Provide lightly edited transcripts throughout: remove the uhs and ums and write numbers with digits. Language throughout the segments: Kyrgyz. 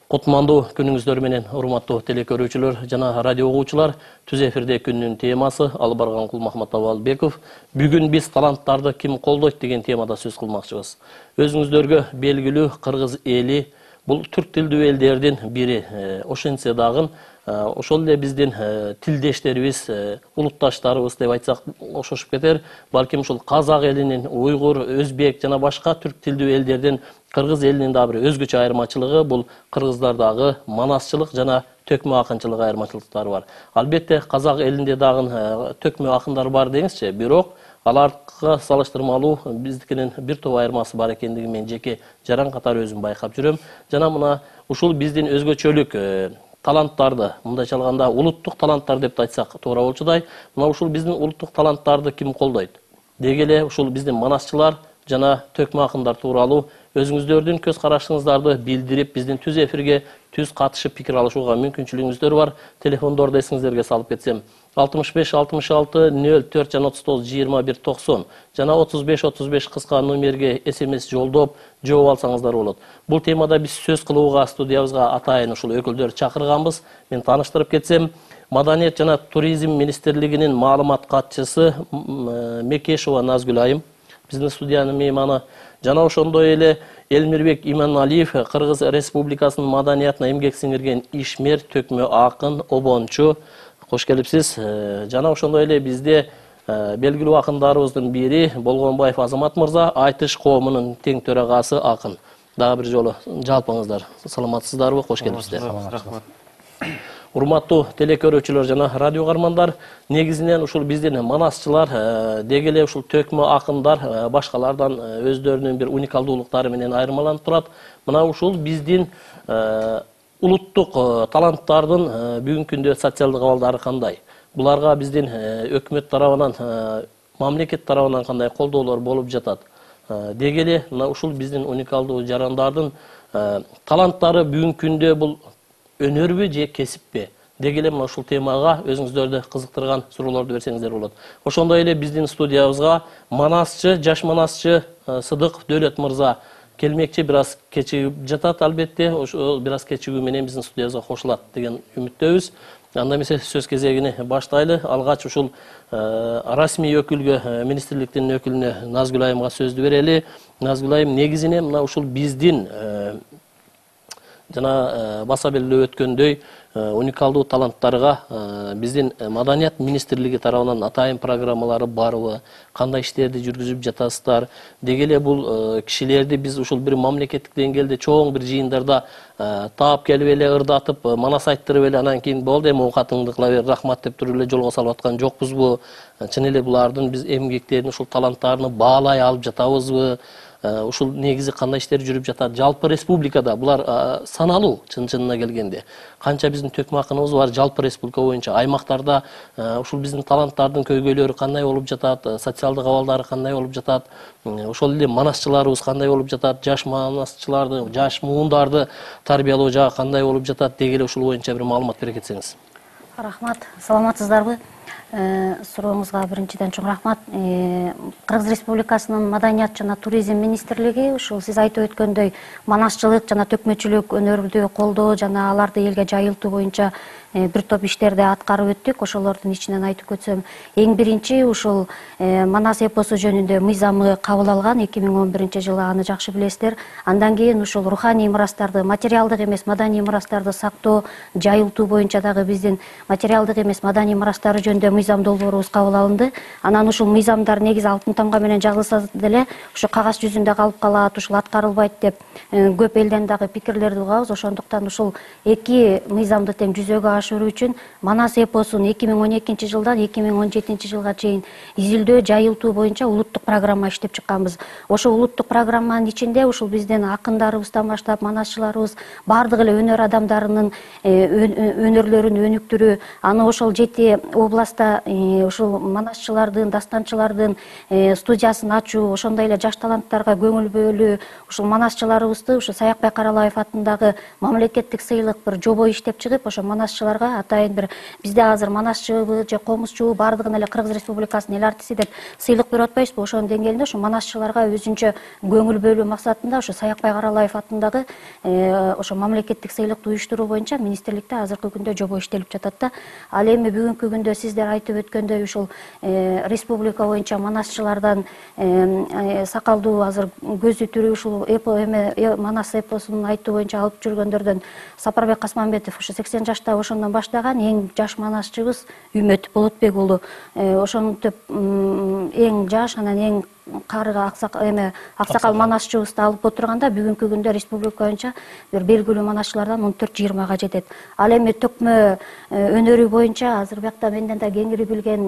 Кутмандуу күнүңүздөр менен урматтуу телекөрүүчүлөр жана радио угуучулар. Түз эфирде күндүн темасы Албарган Кулмахматов Албеков. Бүгүн биз таланттарды ким колдойт деген темада сөз кылмакчыбыз. Өзүңүздөргө белгилүү кыргыз эли бул түрк тилдүү элдердин бири. Ошентсе дагы ошол эле биздин тилдештерибиз, улутташтарыбыз деп айтсак ошошуп кетер. Балким ушул казак элинин, уйгур, өзбек жана башка түрк тилдүү элдердин кыргыз элинин да бир өзгөчө айырмачылыгы бул кыргыздардагы манасчылык жана төкмө акынчылык айырмачылыктары бар. Албетте казак элинде дагы төкмө акындар бар деңизчи, бирок аларга салыштырмалуу биздикинин бир топ айырмасы бар экендигин мен жеке жаран катары өзүм байкап жүрөм. Жана мына ушул биздин өзгөчөлүк таланттарды, мындайча алганда улуттук таланттар деп айтсак туура болчудай, мына ушул биздин улуттук таланттарды ким колдойт? Деги эле ушул биздин манасчылар жана төкмө акындар тууралуу өзүңүздөрдүн көз карашыңыздарды билдирип, биздин түз эфирге түз катышып пикир алышууга мүмкүнчүлүгүңүздөр бар. Телефондорду эсиңиздерге салып кетсем, 65 66 04 жана 39 21 90 жана 35 35 кыска номерге СМС жолдоп жооп алсаңыздар болот. Бул темада биз сөз кылууга студиябызга атайын ушул өкүлдөр чакырганбыз. Мен тааныштырып кетсем, Маданият жана туризм министрлигинин маалымат катчысы Мекешова Назгүл айым биздин студиянын мейманы. Жана ошондой эле Элмирбек Иманалиев, Кыргыз Республикасынын маданиятына эмгек сиңирген ишмер, төкмө акын, обончу. Кош келипсиз. Жана ошондой эле бизде белгилүү акындарыбыздын бири Болгонбаев Азамат мырза, Айтыш коомунун тең төрагасы акын. Дагы бир жолу жалпыңыздар саламатсыздарбы? Кош келипсиздер. Урматтуу телекөрүүчүлөр жана радио кармандар, негизинен ушул биздин манасчылар, деги эле ушул төкмө акындар башкалардан өздөрүнүн бир уникалдуулуктары менен айырмаланып турат. Мына ушул биздин улуттук таланттардын бүгүнкү күндө социалдык абалдары кандай? Буларга биздин өкмөт тарабынан, мамлекет тарабынан кандай колдоолор болуп жатат? Деги эле мына ушул биздин уникалдуу жарандардын таланттары бүгүнкү күндө бул өнөрбү же кесиппи? Деги эле мына ушул темага өзүңүздөрдү кызыктырган суроолорду берсеңиздер болот. Ошондой эле биздин студиябызга манасчы, жаш манасчы Сыдык Дөөлөт мырза келмекчи, бир аз кечигип жатат албетте. Ошо бир аз кечигүү менен биздин студиябызга кошулат деген үмүттөбүз. Анда эмесе сөз кезегини баштайлы. Алгач ушул расмий өкүлгө, министрликтин өкүлүнө Назгүл айымга сөздү берели. Назгүл айым, негизинен мына ушул биздин жана баса белгилеп өткөндөй уникалдуу таланттарга биздин маданият министрлиги тарабынан атайын программалары барбы? Кандай иштерди жүргүзүп жатасыздар? Деги эле бул кишилерди биз ушул бир мамлекеттик деңгээлде чоң бир жыйындарда таап келип эле ырдатып, манас айттырып эле анан кийин болду эми оокатыңды кыла бер, рахмат деп туруп эле жолго салып аткан жокпузбу? Чын эле булардын биз эмгектерин, ушул таланттарын баалай алып жатабызбы? Ушул негизи кандай иштер жүрүп жатат? Жалпы республикада булар саналуу чын-чынына келгенде. Канча биздин төкмө акыныбыз бар жалпы республика боюнча, аймактарда ушул биздин таланттардын көйгөйлөрү кандай болуп жатат? Социалдык абалдары кандай болуп жатат? Ошол эле манасчыларыбыз кандай болуп жатат? Жаш манасчыларды, жаш муундарды тарбиялоо жагы кандай болуп жатат? Деги эле ушул боюнча бир маалымат бере кетсеңиз. Рахмат. Саламатсыздарбы? Сурооңузга биринчиден чоң рахмат. Кыргыз Республикасынын маданият жана туризм министрлиги ушул сиз айтып өткөндөй манасчылык жана төкмөчүлүк өнөрдү колдоо жана аларды элге жайылтуу боюнча бир топ иштерди аткарып өттүк. Ошолордун ичинен айтып өтсөм, эң биринчи ушул Манас эпосу жөнүндө мыйзамы кабыл алган 2011 жылы, аны жакшы билесиздер. Андан кийин ушул руханий мурастарды, материалдык эмес маданий мурастарды сактоо, жайылтуу боюнча дагы биздин материалдык эмес маданий мурастары жөнүндө мыйзам долбоорубуз кабыл алынды. Анан ушул мыйзамдар негизи алтын тамга менен жазылса деле ушу кагаз жүзүндө калып калат, ушул аткарылбайт деп көп элден дагы пикирлерди угабыз. Ошондуктан ушул эки мыйзамды тең жүзөгө ашыруу үчүн Манас эпосун 2012 жылдан 2017 жылга чейин изилдөө, жайылтуу боюнча улуттук программа иштеп чыкканбыз. Ошол улуттук программанын ичинде ушул биздин акындарыбыздан баштап манасчыларыбыз бардык эле өнөр адамдарынын өнөрлөрүн өнүктүрүү, аны ошол 7 область класста ушул манасчылардын, дастанчылардын студиясын ачуу, ошондой эле жаш таланттарга көңүл бөлүү, ушул манасчыларыбызды ушу Саякбай Каралаев атындагы мамлекеттик сыйлык бир жобо иштеп чыгып, ошо манасчыларга атайын бир бизде азыр манасчыбы же комузчубу бардыгын эле Кыргыз Республикасынын эл артисти деп сыйлык берип атпайбызбы? Ошонун деңгээлинде ушу манасчыларга өзүнчө көңүл бөлүү максатында ушу Саякбай Каралаев атындагы ошо мамлекеттик сыйлыкты уюштуруу боюнча министрликте азыркы күндө жобо иштелип жатат да. Ал эми бүгүнкү күндө сиздер айтып өткөндөй ушул республика боюнча манасчылардан сакалдуу азыр көзү тирүү ушул манас эпосун айтуу боюнча алып жүргөндөрдөн Сапарбек Касманбетов ушу 80 жашта ошондон баштаган эң жаш манасчыбыз Үмөт Болотбек уулу. Ошонтип эң жаш, анан эң карыга аксакал манасчыбызды алып отурганда бүгүнкү күндө республика боюнча бир белгилүү манасчылардан 14-20га жетет. Ал эми төкмө өнөрү боюнча азыр биякта менден да кеңири билген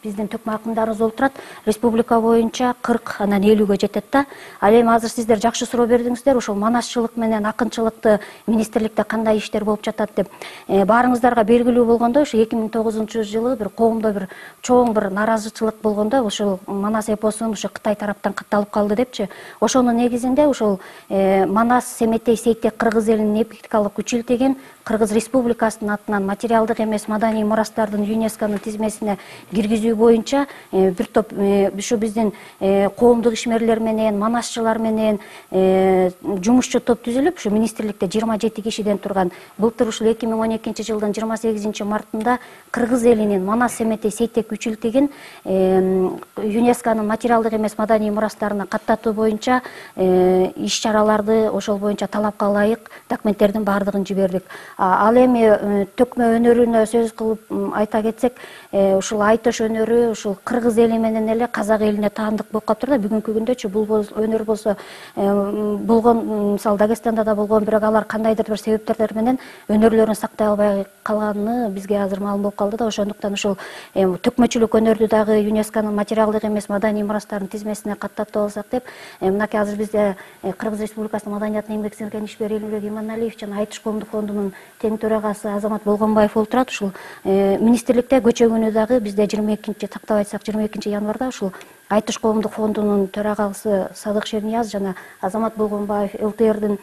биздин төкмө акындарыбыз олтурат. Республика боюнча 40, анан 50ге жетет да. Ал эми азыр сиздер жакшы суроо бердиңиздер, ушул манасчылык менен акынчылыкты министрликте кандай иштер болуп жатат деп. Баарыңыздарга белгилүү болгондой, ушу 2009-жылы бир коомдо бир чоң бир наразычылык болгондо ушул манас ушу Кытай тараптан катталып калды депчи. Ошонун негизинде ушул Манас Семетей Сейтек кыргыз элинин эпикалык күч илтеген Кыргыз Республикасынын атынан материалдык эмес маданий мурастардын ЮНЕСКОнун тизмесине киргизүү боюнча бир топ ушу биздин коомдук ишмерлер менен, манасчылар менен жумушчу топ түзүлүп, ушу министрликте 27 кишиден турган. Былтыр ушул 2012-жылдын 28-мартында кыргыз элинин Манас Семетей Сейтек күч илтеген ЮНЕСКОнун материалдык эмес маданий мурастарына каттатуу боюнча иш-чараларды ошол боюнча талапка ылайык документтердин баардыгын жибердик. Ал эми төкмө өнөрүнө сөз кылып айта кетсек, ушул айтыш өнөрү ушул кыргыз эли менен эле казак элине таандык болуп калыптыр да. Бүгүнкү күндөчү бул өнөр болсо болгон, мисалы Дагестанда да болгон, бирок алар кандайдыр бир себептердер менен өнөрлөрүн сактай албай калганы бизге азыр маалым болуп калды да. Ошондуктан ушул төкмөчүлүк өнөрдү дагы ЮНЕСКОнун материалдык эмес маданий мурастардын тизмесине каттатып алсак деп, мынакей азыр бизде Кыргыз Республикасынын маданиятына эмгек сиңирген ишмер Элимбек Иманалиев жана Айтыш коомдук фондунун тең төрагасы Азамат Болгонбаев олтурат. Ушул министрликте көчө күнү дагы бизде 22 тактап айтсак 22 январда ушул Айтыш коомдук фондунун төрагасы Садык Шернияз жана Азамат Болгонбаев ЛТРдин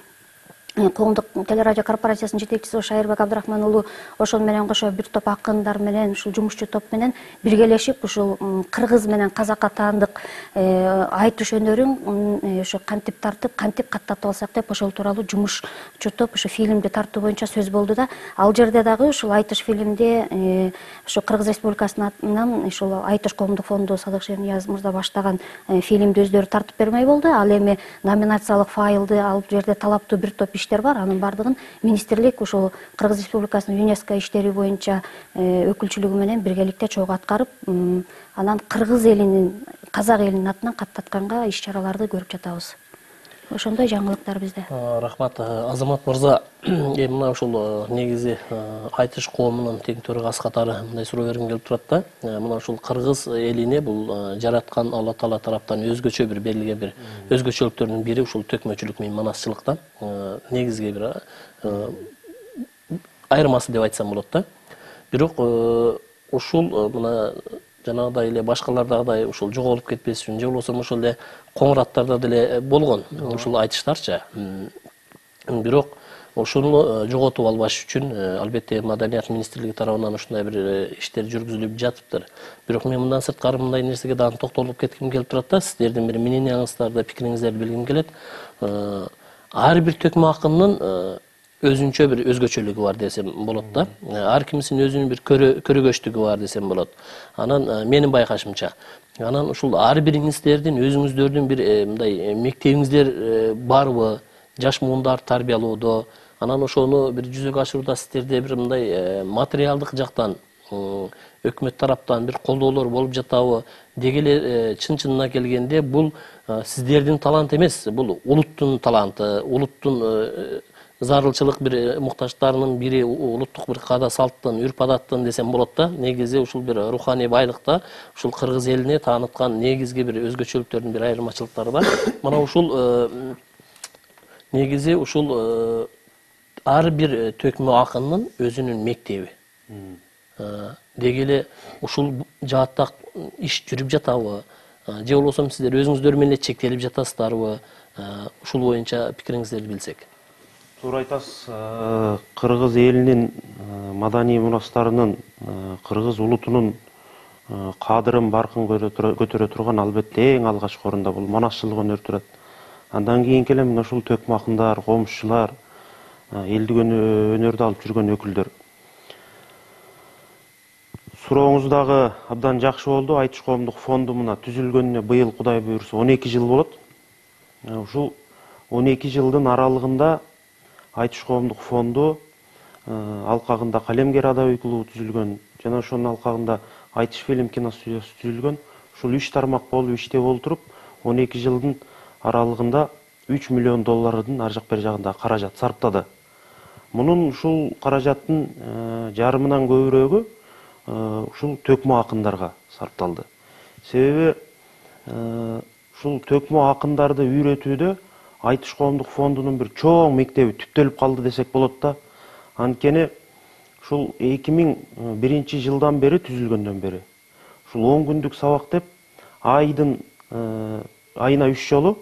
коомдук телерадио корпорациясынын жетекчиси Шайырбек Абдрахман уулу ошон менен кошо бир топ акындар менен ушул жумушчу топ менен биргелешип ушул кыргыз менен казакка таандык айтыш өнөрүн ошо кантип тартып, кантип каттатып алсак деп ошол тууралуу жумушчу топ ошо фильмди тартуу боюнча сөз болду да. Ал жерде дагы ушул айтыш фильмде ошо Кыргыз Республикасынын атынан ушул Айтыш коомдук фонду Садык Шернияз мырза баштаган фильмди өздөрү тартып бермей болду. Ал эми номинациялык файлды алып жерде талаптуу бир топ иштер бар. Анын бардыгын министрлик ушул Кыргыз Республикасынын ЮНЕСКО иштери боюнча өкүлчүлүгү менен биргеликте чогуу аткарып, анан кыргыз элинин, казак элинин атынан каттатканга иш-чараларды көрүп жатабыз. Ошондой жаңылыктар бизде. Рахмат, Азамат мырза. Эми мына ушул негизи айтыш коомунун тең төрагасы катары мындай суроо бергим келип турат да. Мына ушул кыргыз элине бул жараткан Алла Таала тараптан өзгөчө бир берилген бир өзгөчөлүктөрдүн бири ушул төкмөчүлүк менен манасчылыктан негизги бир айырмасы деп айтсам болот да. Бирок ушул мына жанагыдай эле башкалардагыдай ушул жоголуп кетпес үчүн же болбосо ошол эле коңураттарда деле болгон ушул айтыштарчы. Бирок ошону жоготуп албаш үчүн албетте Маданият министрлиги тарабынан ушундай бир иштер жүргүзүлүп жатыптыр. Бирок мен мындан сырткары мындай нерсеге дагы токтолуп кетким келип турат да. Сиздердин бир мнениеңиздерди, пикириңиздерди билгим келет. Ар бир төкмө акындын өзүнчө бир өзгөчөлүгү бар десем болот да. Ар кимисинин өзүнүн бир көрөгөчтүгү бар десем болот. Анан менин байкашымча, анан ушул ар бириңиздердин өзүңүздөрдүн бир мындай мектебиңиздер барбы? Жаш муундар тарбиялоодо, анан ошону бир жүзөгө ашырууда сиздерде бир мындай материалдык жактан өкмөт тараптан бир колдоолор болуп жатабы? Деги эле чын-чынына келгенде бул сиздердин талант эмес, бул улуттун таланты, улуттун зарылчылык бир муктаждарынын бири, улуттук бир каада салттын, үрп-адаттын десем болот да. Негизи ушул бир руханий байлыкта ушул кыргыз элине тааныткан негизги бир өзгөчөлүктөрдүн бир айырмачылыктары бар. Мына ушул негизи ушул ар бир төкмө акындын өзүнүн мектеби. деги эле ушул жаатта иш жүрүп жатабы, же болбосо сиздер өзүңүздөр менен чектелип жатасыздарбы? Ушул боюнча пикириңиздерди билсек. Туура айтасыз. Кыргыз элинин маданий мурастарынын, кыргыз улутунун кадырын баркын көтөрө турган албетте эң алгачкы орунда бул манасчылык өнөр турат. Андан кийинки эле мына ушул төкмө акындар, комузчулар, элдик өнөрдү алып жүргөн өкүлдөр. Сурооңуз дагы абдан жакшы болду. Айтыш коомдук фонду мына түзүлгөнүнө быйыл Кудай буйрса 12 жыл болот. Ушул 12 жылдын аралыгында Айтыш коомдук фонду алкагында Калемгер адабий клубу түзүлгөн, жана ошонун алкагында Айтыш фильм кино студиясы түзүлгөн. Ушул 3 тармак болуп иштеп олтуруп, 12 жылдын аралыгында 3 миллион доллардын ар жак бери жагында каражат сарптады. Мунун ушул каражаттын жарымынан көбүрөөгү ушул төкмө акындарга сарпталды. Себеби ушул төкмө акындарды үйрөтүүдө Айтыш коомдук фондунун бир чоң мектеби түптөлүп калды десек болот да. Анткени ушул 2001 жылдан бери түзүлгөндөн бери ушул 10 күндүк сабак деп айына 3 жолу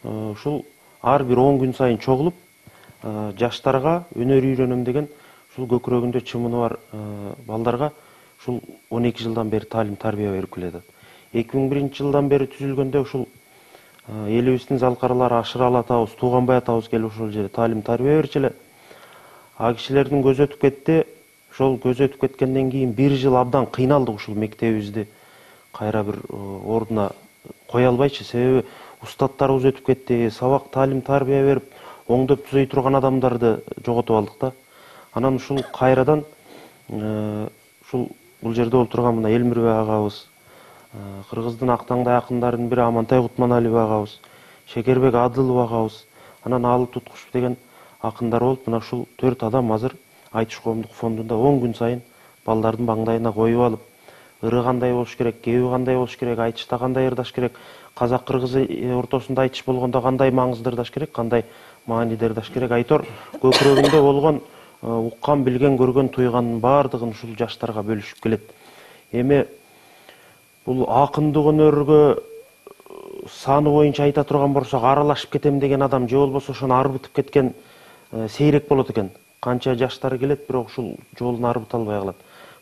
ушул ар бир 10 күн сайын чогулуп жаштарга өнөр үйрөнөм деген ушул көкүрөгүндө чымыны бар балдарга ушул 12 жылдан бери талим тарбия берип келет. 2001 жылдан бери түзүлгөндө ушул элибиздин залкарлары Ашыралы атабыз, Тууганбай атабыз келип ошол жерде талим тарбия берчү эле. А кишилердин көзү өтүп кетти. Ошол көзү өтүп кеткенден кийин 1 жыл абдан кыйналдык ушул мектебибизди кайра бир ордуна кое албайчы. Себеби устаттарыбыз өтүп кетти, сабак талим тарбия берип оңдоп түзөй турган адамдарды жоготуп алдык да. Анан ушул кайрадан ушул бул жерде олтурган мына Элмирбек агабыз, Кыргыздын актаңдай акындарынын бири Амантай Кутманалиев агабыз, Шекербек Адылов агабыз, анан Алып Туткушев деген акындар болуп, мына ушул 4 адам азыр Айтыш коомдук фондунда 10 күн сайын балдардын маңдайына коюп алып, ыры кандай болуш керек, кеби кандай болуш керек, айтышта кандай ырдаш керек, казак кыргыз ортосунда айтыш болгондо кандай маңызды ырдаш керек, кандай мааниде ырдаш керек, айтор көкүрөгүндө болгон уккан, билген, көргөн, туйганын баардыгын ушул жаштарга бөлүшүп келет. Эми бул акындык өнөргө саны боюнча айта турган болсок, аралашып кетем деген адам же болбосо ошону арбытып кеткен сейрек болот экен. Канча жаштар келет, бирок ушул жолун арбыта албай калат.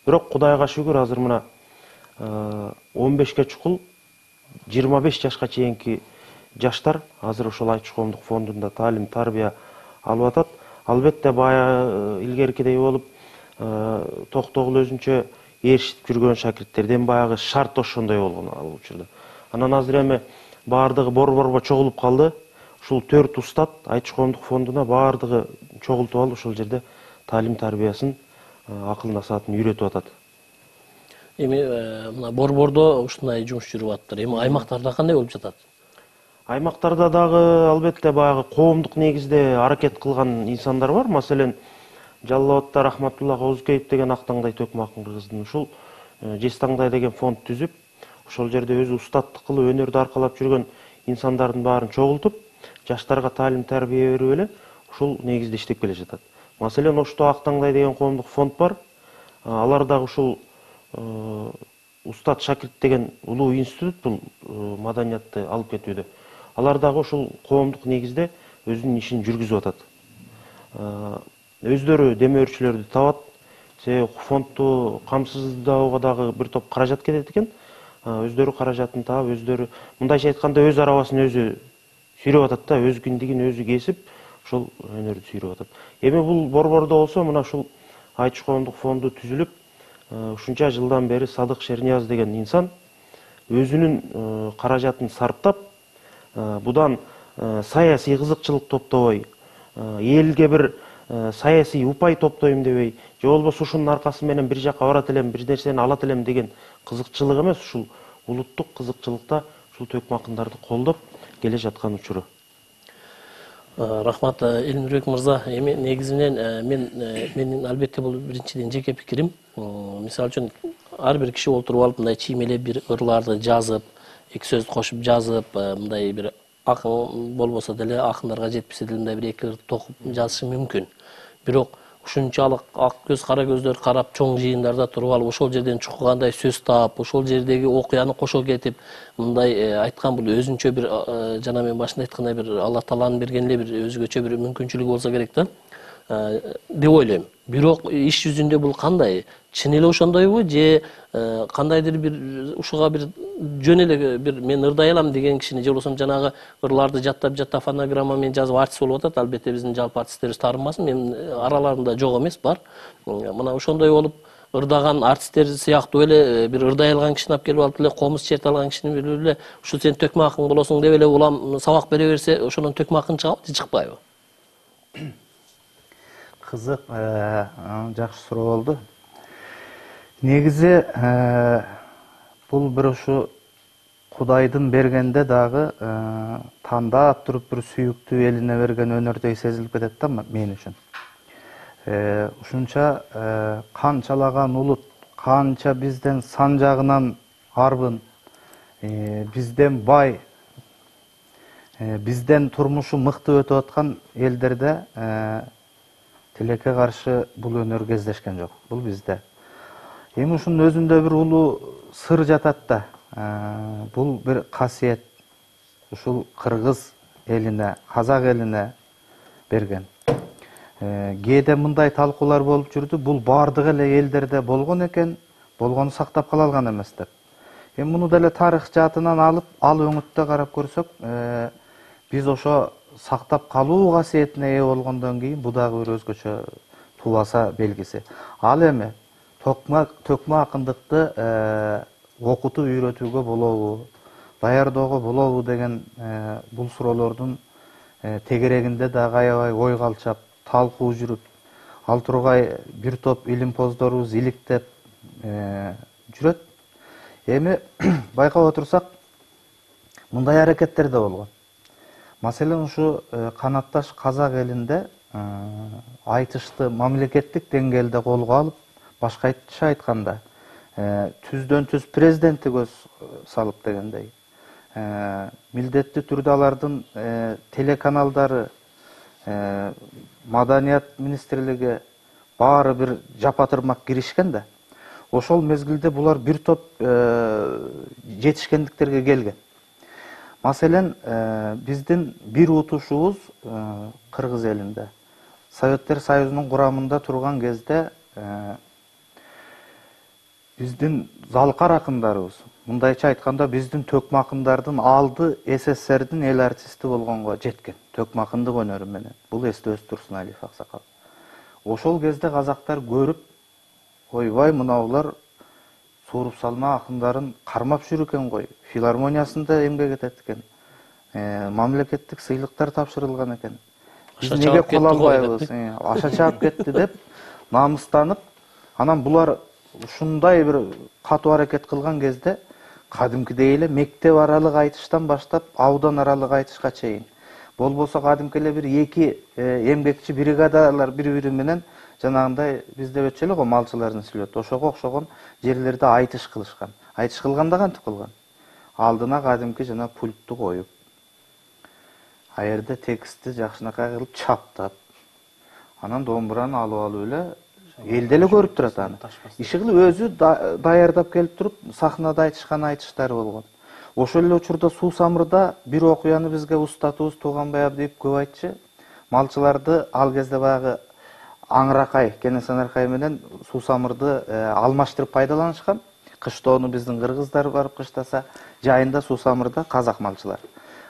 Бирок Кудайга шүгүр, азыр мына 15 чукул 25 жашка чейинки жаштар азыр ошол Айтыш коомдук фондунда талим тарбия алып атат. Албетте бая илгеркидей болуп токтогул өзүнчө ээрчитип жүргөн шакирттерден баягы шарт ошондой болгон ал учурда. Анан азыр эми баардыгы борборго чогулуп калды. Ушул 4 устат Айтыш коомдук фондуна баардыгы чогултуп алып ошол жерде талим тарбиясын, акыл насаатын үйрөтүп атат. Эми мына борбордо ушундай жумуш жүрүп атыптыр. Эми аймактарда кандай болуп жатат? Аймактарда дагы албетте баягы коомдук негизде аракет кылган инсандар бар. Маселен, Жалал Абадта Рахматулла Козукеев деген актаңдай төкмө акын кыргыздын ушул Жестаңдай деген фонд түзүп, ошол жерде өзү устаттык кылып өнөрдү аркалап жүргөн инсандардын баарын чогултуп, жаштарга талим тарбия берип эле ушул негизде иштеп келе жатат. Маселен, Ошто Актаңдай деген коомдук фонд бар. Алар дагы ушул Устат Шакирт деген улуу институт бул маданиятты алып кетүүдө. Алар дагы ушул коомдук негизде өзүнүн ишин жүргүзүп атат. Өздөрү демөөрчүлөрдү табат. Себеби фондду камсыздоого дагы бир топ каражат кетет экен. Өздөрү каражатын таап, өздөрү мындайча айтканда өз арабасын өзү сүйрөп атат да, өз киндигин өзү кесип, ошол өнөрдү сүйрөп атат. Эми бул борбордо болсо, мына ушул Айтыш коомдук фонду түзүлүп, ушунча жылдан бери Садык Шернияз деген инсан өзүнүн каражатын сарптап, будан саясий кызыкчылык топтобой, элге бир саясий упай топтойм дебей, же болбосо ушунун аркасы менен бир жака барат элем, бир нерсени алат элем деген кызыкчылык эмес, ушул улуттук кызыкчылыкта ушул төкмө акындарды колдоп келе жаткан учуру. Рахмат, Элмирбек мырза. Эми негизинен менин албетте бул биринчиден жеке пикирим. Мисалы үчүн ар бир киши олтуруп алып мындай чиймелеп бир ырларды жазып, эки сөз кошуп жазып, мындай бир акын болбосо деле, акындарга жетпесе деле мындай бир эки ыр токуп жазышы мүмкүн. Бирок ушунчалык ак көз кара көздөр карап чоң жыйындарда туруп алып ошол жерден чуккандай сөз таап ошол жердеги окуяны кошо кетип мындай айткан бул өзүнчө бир жана мен башында айткандай бир Алла тааланын берген эле бир өзгөчө бир мүмкүнчүлүгү болсо керек да деп ойлойм. Бирок иш жүзүндө бул кандай? Чын эле ошондойбу же кандайдыр бир ушуга бир жөн эле бир мен ырдай алам деген кишини же болбосо жанагы ырларды жаттап фонограмма менен жазып артист болуп атат. Албетте биздин жалпы артисттерибиз таарынбасын. Мен араларында жок эмес, бар. Мына ошондой болуп ырдаган артисттер сыяктуу эле бир ырдай алган кишини алып келип алып эле комуз черте алган кишини билип эле ушу сен төкмө акың болосуң деп эле улам сабак бере берсе ошондон төкмө акын чыгабы же чыкпайбы? Кызык, жакшы суроо болду. Негизи бул бир ушу Кудайдын бергенде дагы тандап туруп бир сүйүктүү элине берген өнөрдөй сезилип кетет да мен үчүн. Ушунча канчалаган улут, канча бизден сан жагынан арбын, бизден бай, бизден турмушу мыкты өтүп аткан элдерде тилекке каршы бул өнөр кездешкен жок. Бул бизде. Эми ушунун өзүндө бир улуу сыр жатат да. Бул бир касиет. Ушул кыргыз элине, казак элине берген. Кээде мындай талкуулар болуп жүрдү. Бул бардык эле элдерде болгон экен, болгону сактап кала алган эмес деп. Эми муну деле тарых жаатынан алып, ал өңүттө карап көрсөк, биз ошо сактап калуу касиетине ээ болгондон кийин бул дагы бир өзгөчө тубаса белгиси. Ал эми төкмө акындыкты окутуп үйрөтүүгө болобу, даярдоого болобу деген бул суроолордун тегерегинде дагы аябай ой калчап, талкуу жүрүп, ал тургай бир топ илимпоздорубуз иликтеп жүрөт. Эми байкап отурсак, мындай аракеттер да болгон. Маселен ушу канатташ казак элинде айтышты мамлекеттик деңгээлде колго алып, башкача айтканда түздөн түз президентти көз салып дегендей, милдеттүү түрдө алардын телеканалдары, маданият министрлиги баары бир жапатырмак киришкен да. Ошол мезгилде булар бир топ жетишкендиктерге келген. Маселен, биздин бир утушубуз кыргыз элинде Советтер Союзунун курамында турган кезде биздин залкар акындарыбыз, мындайча айтканда биздин төкмө акындардын алды СССРдин эл артисти болгонго жеткен. Төкмө акындык өнөрү менен. Бул эстебиз Турсуналиев аксакал. Ошол кезде казактар көрүп, ойбай мынаулар сууруп салма акындарын кармап жүрүп экен ғой. Филармониясында эмгек этет экен. Мамлекеттик сыйлыктар тапшырылган экен. Биз неге кыла албайбыз? Аша чаап кетти деп намыстанып, анан булар ушундай бир катуу аракет кылган кезде кадимкидей эле мектеп аралык айтыштан баштап аудан аралык айтышка чейин, болбосо кадимки эле бир эки эмгекчи бригадалар бири-бири менен жанагындай бизде өтчү эле го малчылардын сүлөтү, ошого окшогон жерлерде айтыш кылышкан. Айтыш кылганда кантип кылган? Алдына кадимки жана пультту коюп, а жерде текстти жакшынакай кылып чаптап, анан домбураны алып эле элде эле көрүп турат аны. Иши кылып өзү даярдап келип туруп, сахнада айтышкан айтыштары болгон. Ошол эле учурда Суу Самырда бир окуяны бизге устатыбыз Тууганбай Абдиев көп айтчы. Малчыларды ал кезде баягы Аңыракай, Кенесанаркай менен Суу Самырды алмаштырып пайдаланышкан. Кыштоону биздин кыргыздар барып кыштаса, жайында Суу Самырда казак малчылар.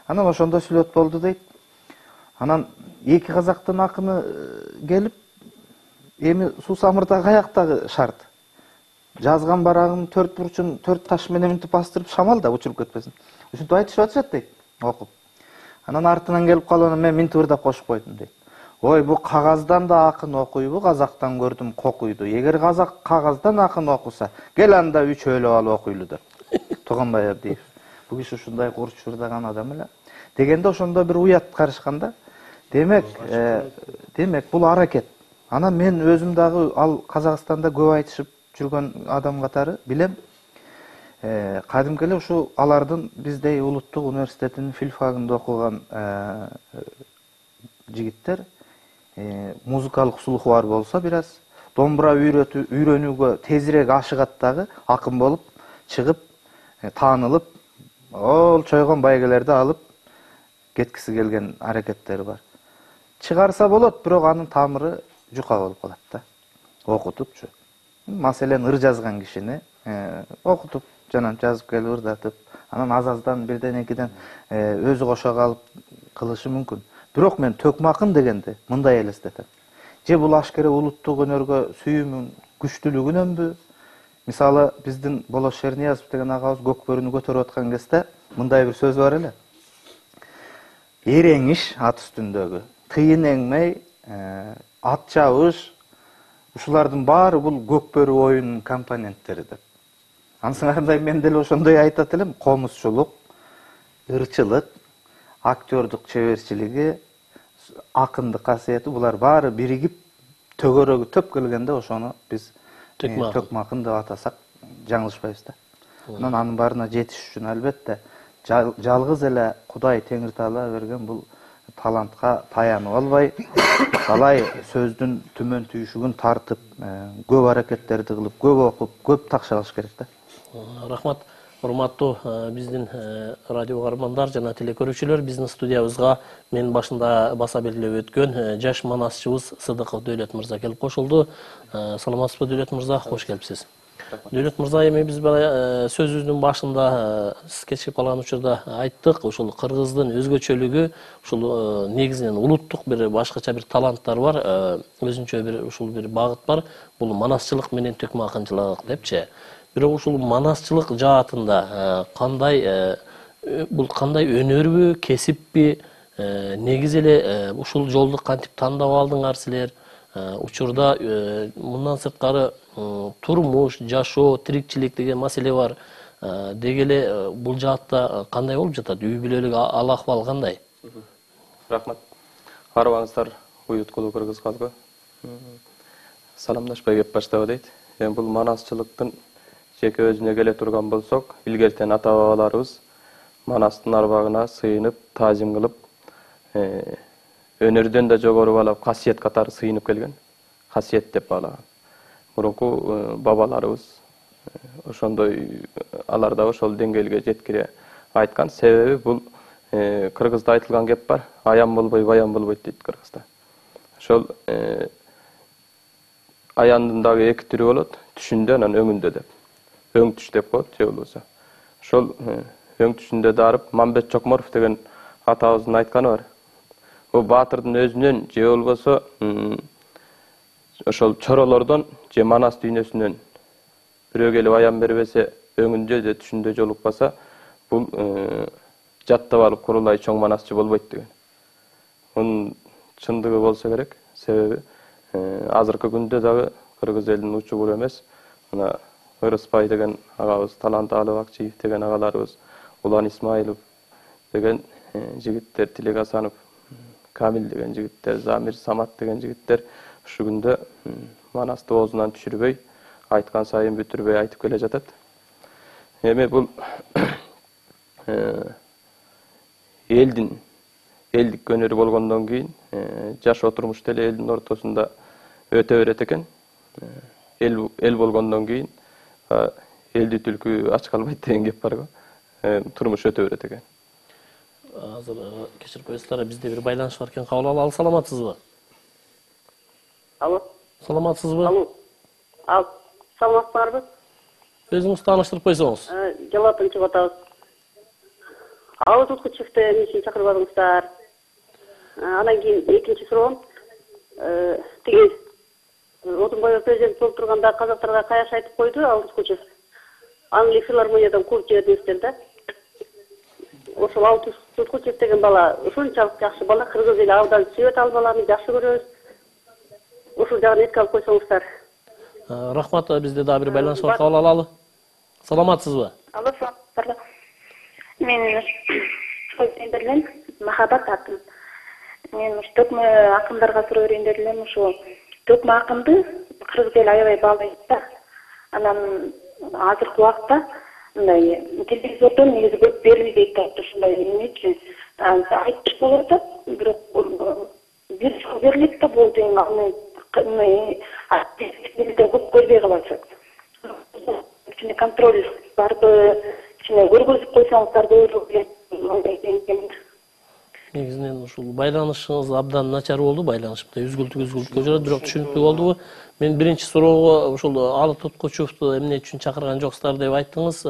Анан ошондо сүлөт болду дейт. Анан эки казактын акыны келип, эми Суу Самырда каяктагы шарт? Жазган барагын төрт бурчун төрт таш менен мынтип бастырып шамалда учуруп кетпесин. Ушинтип айтышып атышат дейт, окуп. Анан артынан келип калып анан мен мынтип ырдап кошуп койдум дейт. Ой, бу кагаздан да акын окуйбу, казактан көрдүм кокуйду. Эгер казак кагаздан акын окуса, кел анда үчөөлөп алып окуйлу деп. Тууганбай Абдиев. Бул киши ушундай курч ырдаган адам эле. Дегенде ошондо бир уят карышкан да. Демек бул аракет. Анан мен өзүм дагы ал Казакстанда көп айтышып жүргөн адам катары билем. Кадимки эле ушу алардын биздей улуттук университетинин филфагында окуган жигиттер музыкалык слуху бар болсо бир аз домбура үйрөнүүгө тезирээк ашыгат дагы, акын болуп чыгып, таанылып, ол чойгон байгелерди алып кеткиси келген аракеттери бар. Чыгарса болот, бирок анын тамыры жука болуп калат да. Окутупчу. Маселен, ыр жазган кишини окутуп, жана жазып келип ырдатып, анан аз-аздан бирден-экиден өзү кошо калып кылышы мүмкүн. Бирок мен төкмакын дегенде мындай элестетем. Же бул ашкере улуттук өнөргө сүйүүмүн күчтүүлүгүнөнбү? Мисалы, биздин Болош Шерниязов деген агабыз көкбөрүнү көтөрүп аткан кезде мындай бир сөз бар эле. Эреңиш ат үстүндөгү, тыйын эңмей, ат чабыш, ушулардын баары бул көкбөрү оюнунун компоненттери деп. Ансыңарындай мен деле ошондой айтат элем, комузчулук, ырчылык, актёрдук чеберчилиги, акындык касиети, булар баары биригип төгөрөгү төп келгенде ошону биз төкмакын деп атасак жаңылышпайбыз да. Анын баарына жетиш үчүн албетте жалгыз эле Кудай Теңир Таала берген бул талантка таянып албай, талай сөздүн түмөн түйшүгүн тартып, көп аракеттерди кылып, көп окуп, көп такшалыш керек да. Рахмат. Урматтуу биздин радио каармандар жана телекөрүүчүлөр, биздин студиябызга мен башында баса белгилеп өткөн жаш манасчыбыз Сыдыков Дөөлөт мырза келип кошулду. Саламатсызбы Дөөлөт мырза? Кош келипсиз. Дөөлөт мырза, эми биз сөзүбүздүн башында сиз кечирип калган учурда айттык, ушул кыргыздын өзгөчөлүгү, ушул негизинен улуттук бир башкача бир таланттар бар, өзүнчө бир ушул бир багыт бар. Бул манасчылык менен төкмакынчылык депчи. Бирок ушул манасчылык жаатында бул кандай өнөрбү, кесиппи? Негизи эле ушул жолду кантип тандап алдыңар силер? Учурда мындан сырткары турмуш, жашоо, тирикчилик деген маселе бар. Деги эле бул жаатта кандай болуп жатат? Үй бүлөлүк ал-акыбал кандай? Рахмат. Арыбаңыздар уюткулуу кыргыз калкы. Саламдашпай кеп баштабы дейт. Эми бул манасчылыктын жеке өзүнө келе турган болсок, илгертен ата-бабаларыбыз манастын арбагына сыйынып, таазим кылып, өнөрдөн да жогору баалап, касиет катары сыйынып келген. Касиет деп баалаган. Мурунку бабаларыбыз ошондой, алар да ошол деңгээлге жеткире айткан. Себеби бул кыргызда айтылган кеп бар, аян болбой, баян болбойт дейт кыргызда. Ошол аяндын дагы эки түрү болот, түшүндө анан өңүндө деп. Өң түш деп коет, же болбосо. Ошол өң түшүндө дарып Мамбет Чокморов деген атабыздын айтканы бар. Бул баатырдын өзүнөн же болбосо ошол чоролордон же манас дүйнөсүнөн бирөө келип аян бербесе, өңүндө же түшүндө жолукпаса, бул жаттап алып курулай чоң манасчы болбойт деген. Мунун чындыгы болсо керек. Себеби азыркы күндө дагы кыргыз элинин учу бул эмес. Мына Ырыспай деген агабыз, Талант Алыбакчиев деген агаларыбыз, Улан Исмаилов деген жигиттер, Тилек Асанов, Камил деген жигиттер, Замир Самат деген жигиттер ушу күндө манасты оозунан түшүрбөй, айткан сайын бүтүрбөй айтып келе жатат. Эми бул элдик өнөрү болгондон кийин жашоо турмушта эле элдин ортосунда өтө берет экен. Эл болгондон кийин элди түлкү ач калбайт деген кеп бар го. Турмуш өтө берет экен. Азыр кечирип коесуздар, бизде бир байланыш бар экен, кабыл алалы. Саламатсызбы? Алло. Саламатсызбы? Алло. Саламатсыздарбы? Өзүңүздү тааныштырып койсоңуз. Жалатын чыгып атабыз. Ауыз уткучукту эмне үчүн чакырбадыңыздар? Анан кийин экинчи суроом, тиги Отунбаев президент болуп турганда казактарга каяш айтып койду, Ауыз уткучу. Аны филармониядан кууп жибердиңиздер да. Ошол Ауыз уткучу деген бала ушунчалык жакшы бала, кыргыз эли абдан сүйөт ал баланы, жакшы көрөбүз. Ушул жагын эске алып койсоңуздар. Рахмат, бизде дагы бир байланыш бар, кабыл алалы. Саламатсызбы? Алло, саламатсыздарбы? Мен берилем, Махабат атым. Мен төкмө акындарга суроо берейин дедим. Ошо төкмө акынды кыргыз эли аябай баалайт да. Анан азыркы убакта мындай телевизордон негизи көп берилбейт да, ушундай эмне үчүн айтыш болуп атат, бирок бир жыл берилет да болду. Аны көп көрбөй калат. Ичине контроль барбы, ичине көргөзүп койсоңуздар болду. Негизинен ушул байланышыңыз абдан начар болду, байланышымда үзгүлтүккө жүрөт, бирок түшүнүктүү болдубу? Мен биринчи суроого ушул Алы Туткучевду эмне үчүн чакырган жоксуздар деп айттыңыз.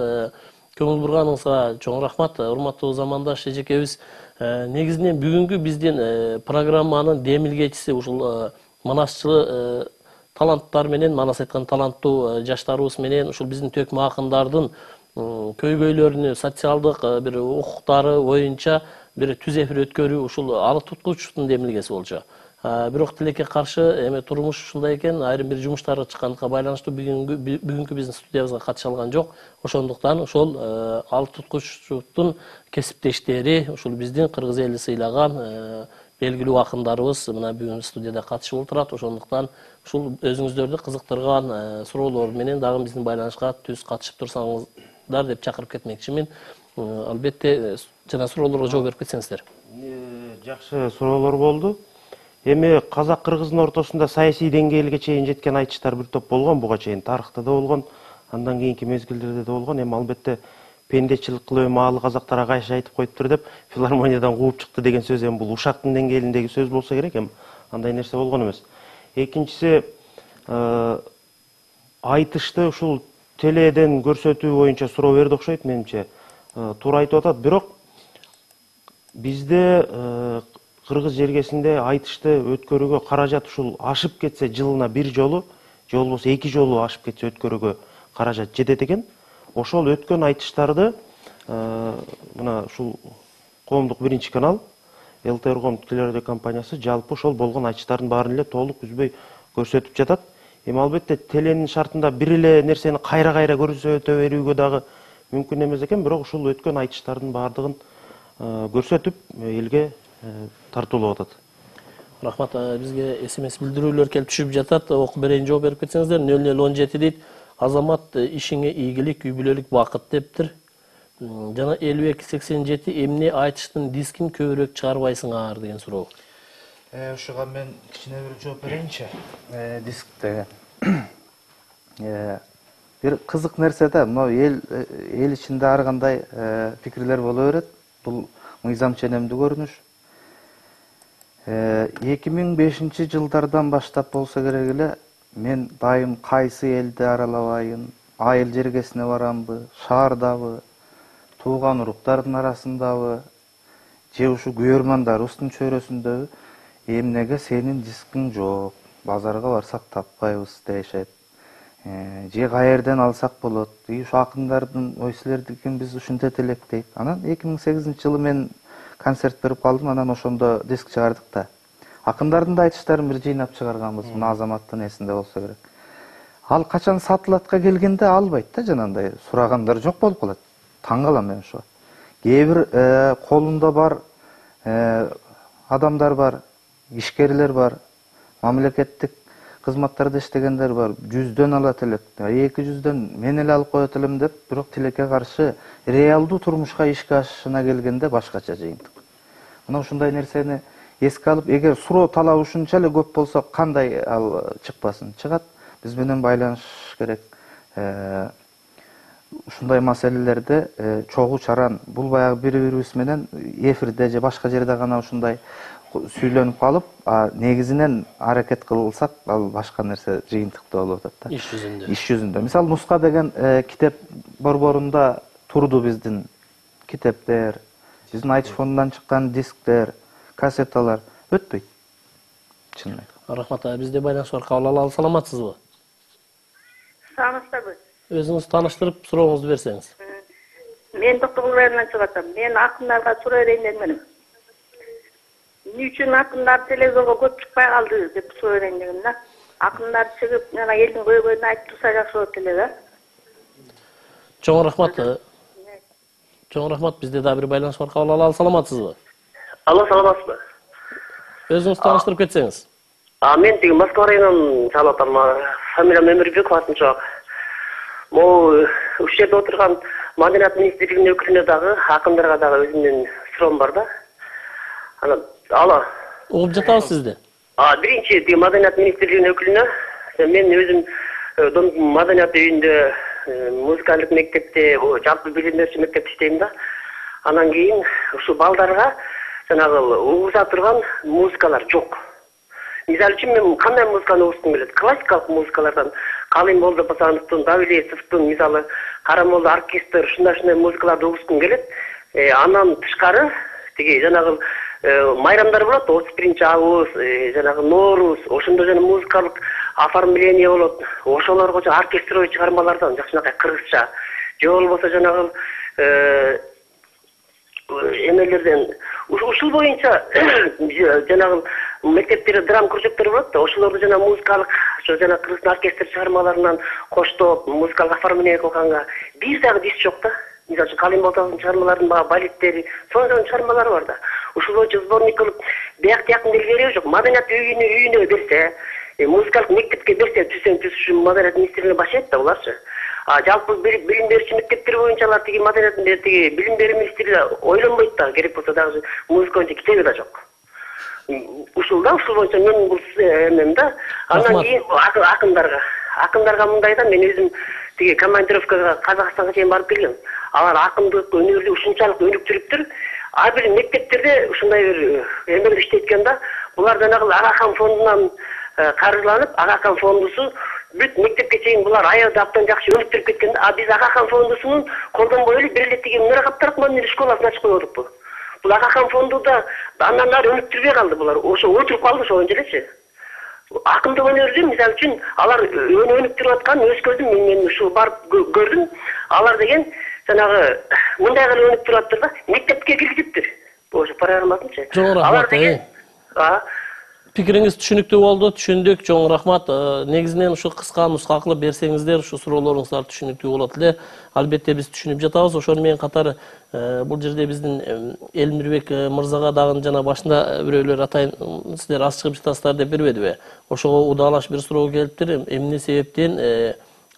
Көңүл бурганыңызга чоң рахмат, урматтуу замандаш эжекебиз. Негизинен бүгүнкү биздин программанын демилгечиси ушул манасчылык таланттар менен, манас айткан таланттуу жаштарыбыз менен ушул биздин төкмө акындардын көйгөйлөрүнү, социалдык бир укуктары боюнча бир түз эфир өткөрүү ушул Алы Туткучевдун демилгеси болчу. Бирок тилекке каршы эме турмуш ушундай экен, айрым бир жумуштары чыккандыкка байланыштуу бүгүнкү биздин студиябызга катыша алган жок. Ошондуктан ошол Алы Туткучевдун кесиптештери, ушул биздин кыргыз эли сыйлаган белгилүү акындарыбыз мына бүгүн студияда катышып отурат. Ошондуктан ушул өзүңүздөрдү кызыктырган суроолор менен дагы биздин байланышка түз катышып турсаңыздар деп чакырып кетмекчимин. Албетте жана суроолорго жооп берип кетсеңиздер. Жакшы суроолор болду. Эми казак кыргыздын ортосунда саясий деңгээлге чейин жеткен айтыштар бир топ болгон, буга чейин тарыхта да болгон, андан кийинки мезгилдерде да болгон. Эми албетте пендечилик кылып маалы казактар кайша айтып коюптур деп филармониядан кууп чыкты деген сөз эми бул ушактын деңгээлиндеги сөз болсо керек, эми андай нерсе болгон эмес. Экинчиси, айтышты ушул теледен көрсөтүү боюнча суроо берди окшойт менимче. Туура айтып атат, бирок бизде кыргыз жергесинде айтышты өткөрүүгө каражат ушул ашып кетсе жылына бир жолу, же болбосо 2 жолу ашып кетсе өткөрүүгө каражат жетет экен. Ошол өткөн айтыштарды мына ушул коомдук биринчи канал ЛТР телерадио компаниясы жалпы ошол болгон айтыштардын баарын эле толук үзбөй көрсөтүп жатат. Эми албетте теленин шартында бир эле нерсени кайра-кайра көрсөтө берүүгө дагы мүмкүн эмес экен, бирок ушул өткөн айтыштардын баардыгын көрсөтүп элге тартуулап атат. Рахмат, бизге SMS билдирүүлөр келип түшүп жатат. Окуп берейин, жооп берип кетсеңиздер. 0017 дейт. Азамат ишиңе ийгилик, үй бүлөлүк бакыт дептир. Жана 5287 эмне айтыштын дискин көбүрөөк чыгарбайсыңар деген суроо. Ушуга мен кичине бир жооп берейинчи. Диск деген. Бир кызык нерсе да, мына эл ичинде ар кандай пикирлер боло берет. Бул мыйзам ченемдүү көрүнүш. 2005 жылдардан баштап болсо керек эле мен дайым кайсы элди аралабайын, айыл жергесине барамбы, шаардабы, тууган уруктардын арасындабы, же ушу күйөрмандарыбыздын чөйрөсүндөбү эмнеге сенин дискиң жок, базарга барсак таппайбыз дешет. Же каерден алсак болот, ушу акындардын ой силердикин биз ушинтет элек дейт. Анан 2008 жылы мен концерт берип калдым, анан ошондо диск чыгардык да. Акындардын да айтыштарын бир жыйнап чыгарганбыз, мына Азаматтын эсинде болсо керек. Ал качан сатылатка келгенде албайт да, жанагындай сурагандар жок болуп калат. Таң калам мен ошого. Кээ бир колунда бар адамдар бар, ишкерлер бар, мамлекеттик кызматтарда иштегендер бар, 100дөн алат элек, 200дөн мен эле алып коет элем деп, бирок тилекке каршы реалдуу турмушка ишке ашышына келгенде башкача жыйынтык. Мына ушундай нерсени эске алып, эгер суроо талабы ушунча эле көп болсо, кандай ал чыкпасын? Чыгат. Биз менен байланышыш керек. Ушундай маселелерде чогуу чаран, бул баягы бири-бирибиз менен эфирде же башка жерде гана ушундай сүйлөнүп калып, негизинен аракет кылсак, ал башка нерсе жыйынтыктуу болуп атат да. Иш жүзүндө. Иш жүзүндө. Мисалы, Нуска деген китеп борборунда турду биздин китептер, биздин айтыш фондунан чыккан дисктер, кассеталар өтпөйт. Чын эле. Рахмат, бизде байланыш бар, кабыл алалы. Саламатсызбы? Саламатсызбы? Өзүңүз тааныштырып, сурооңузду берсеңиз. Мен Токтогул районунан чыгып атам. Мен акындарга суроо берейин дегем. Эмне үчүн акындар телевизорго көп чыкпай калды деп суроо берейин дегем да. Акындар чыгып, жана элдин көйгөйүн айтып турса жакшы болот эле да. Чоң рахмат. Чоң рахмат, бизде да бир байланыш бар, кабыл алалы. Саламатсызбы? Алло, саламатсызбы? Өзүңүз тааныштырып кетсеңиз. Мен тиги Москва районунан чалып атам. Фамилиям Өмүрбеков атынча. Могу ушул жерде отурган Маданият министрлигинин өкүлүнө дагы, акындарга дагы өзүмдүн суроом бар да. Алло. Угуп жатабыз сизди. Биринчи тиги Маданият министрлигинин өкүлүнө мен өзүм Маданият үйүндө музыкалык мектепте жалпы билим берүүчү мектепте иштейм да. Анан кийин ушу балдарга жанагы угуза турган музыкалар жок. Мисалы үчүн мен кандай музыканы угускум келет? Классикалык музыкалардан Калимболду Басановдун, Давилетовдун, мисалы Карамолду оркестр, ушундай музыкаларды угускум келет. Андан тышкары тиги жанагы майрамдар болот, 31-август, жанагы Нооруз, ошондо жана музыкалык оформление болот. Ошолорго оркестровый чыгармалардан жакшынакай кыргызча же болбосо жанагы эмелерден ушул боюнча жанагы мектептерде драм кружоктор болот да, ошолорду жана музыкалык ошо жана кыргыз оркестр чыгармаларынан коштоп музыкалык оформление кылганга бир дагы дис жок да. Мисалы үчүн Калимболдун чыгармаларынын баягы балеттери, сонун чыгармалары бар да. Ушул боюнча сборник кылып бияк тияктын кереги жок. Маданият үйүнө берсе, музыкалык мектепке берсе, түзсөң Маданият министрлигине башайт да буларчы. Жалпы билим берүүчү мектептер боюнча алар тиги Маданият тиги билим берүү министрлиги ойлонбойт да, керек болсо дагы музыка боюнча китеби да жок. Ушул боюнча мен бул эмем да. Андан кийин акындарга мындай да, мен өзүм тиги командировкага Казакстанга чейин барып келгем. Алар акындык өнөрдү ушунчалык өнүктүрүптүр. Ар бир мектептерде ушундай бир эмелер иштейт экен да. Булар жанагы Агахан фондунан каржыланып, Агахан фондусу бүт мектепке чейин булар аябай абдан жакшы өнүктүрүп кеткен да. Биз Агахан фондусунун колдонбой эле бир эле тиги Муракаптар Акмадиев школасын ачып койдукпу. Бул Агахан фондуда андан ары өнүктүрбөй калды булар. Ошо отуруп калды ошол элечи. Акындык өнөрдү мисалы үчүн алар өнүктүрүп аткан өз көзүм мен ушу барып көрдүм. Алар деген жанагы мындай кылып өнүктүрүп аттыр да, мектепке киргизиптир. Ошо программасынчы. Алар деген Пикириңиз түшүнүктүү болду, түшүндүк. Чоң рахмат. Негизинен ушу кыска нуска кылып берсеңиздер, ушу суроолоруңуздар түшүнүктүү болот эле. Албетте биз түшүнүп жатабыз. Ошону менен катар бул жерде биздин Элмирбек мырзага дагы жана башында бирөөлөр атайын сиздер аз чыгып жатасыздар деп бербедиби? Ошого удаалаш бир суроо келиптир. Эмне себептен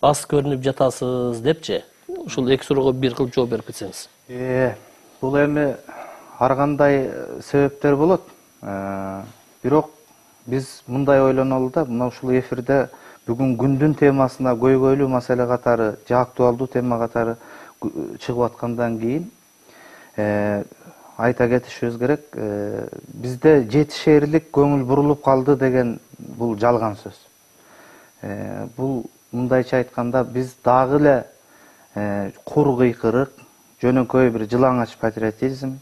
аз көрүнүп жатасыз депчи? Ушул эки суроого бир кылып жооп берип кетсеңиз. Бул эми ар кандай себептер болот. Бирок биз мындай ойлонолу да, мына ушул эфирде бүгүн күндүн темасына көйгөйлүү маселе катары, же актуалдуу тема катары чыгып аткандан кийин айта кетишибиз керек, бизде жетишээрлик көңүл бурулуп калды деген бул жалган сөз. Бул мындайча айтканда биз дагы эле кур кыйкырык, жөнөкөй бир жылаңач патриотизм,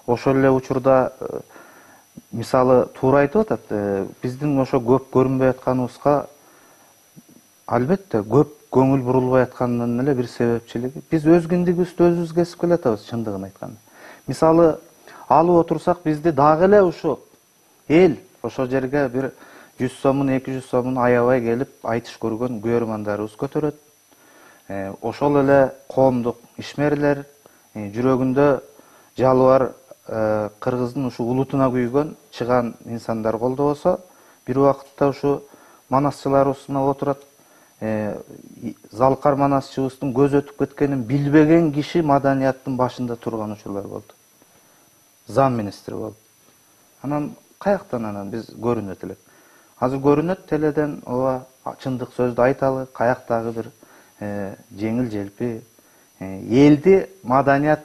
ошол эле учурда мисалы туура айтып атат, биздин ошо көп көрүнбөй атканыбызга албетте көп көңүл бурулбай атканынын эле бир себепчилиги. Биз өз киндигибизди өзүбүз кесип келатабыз, чындыгын айтканда. Мисалы алып отурсак, бизди дагы эле ушу эл ошол жерге бир 100 сомун, 200 сомун аябай келип айтыш көргөн көрөрмандарыбыз көтөрөт. Ошол эле коомдук ишмерлер, жүрөгүндө жалбар кыргыздын ушу улутуна күйгөн чыган инсандар колдобосо, бир убакытта ушу манасчыларыбыз мына отурат, залкар манасчыбыздын көз өтүп кеткенин билбеген киши маданияттын башында турган учурлар болду. Зам министри болду. Анан каяктан анан биз көрүнөт элек? Азыр көрүнөт теледен, ооба чындык сөздү айталы, каяктагы бир жеңил желпи элди маданият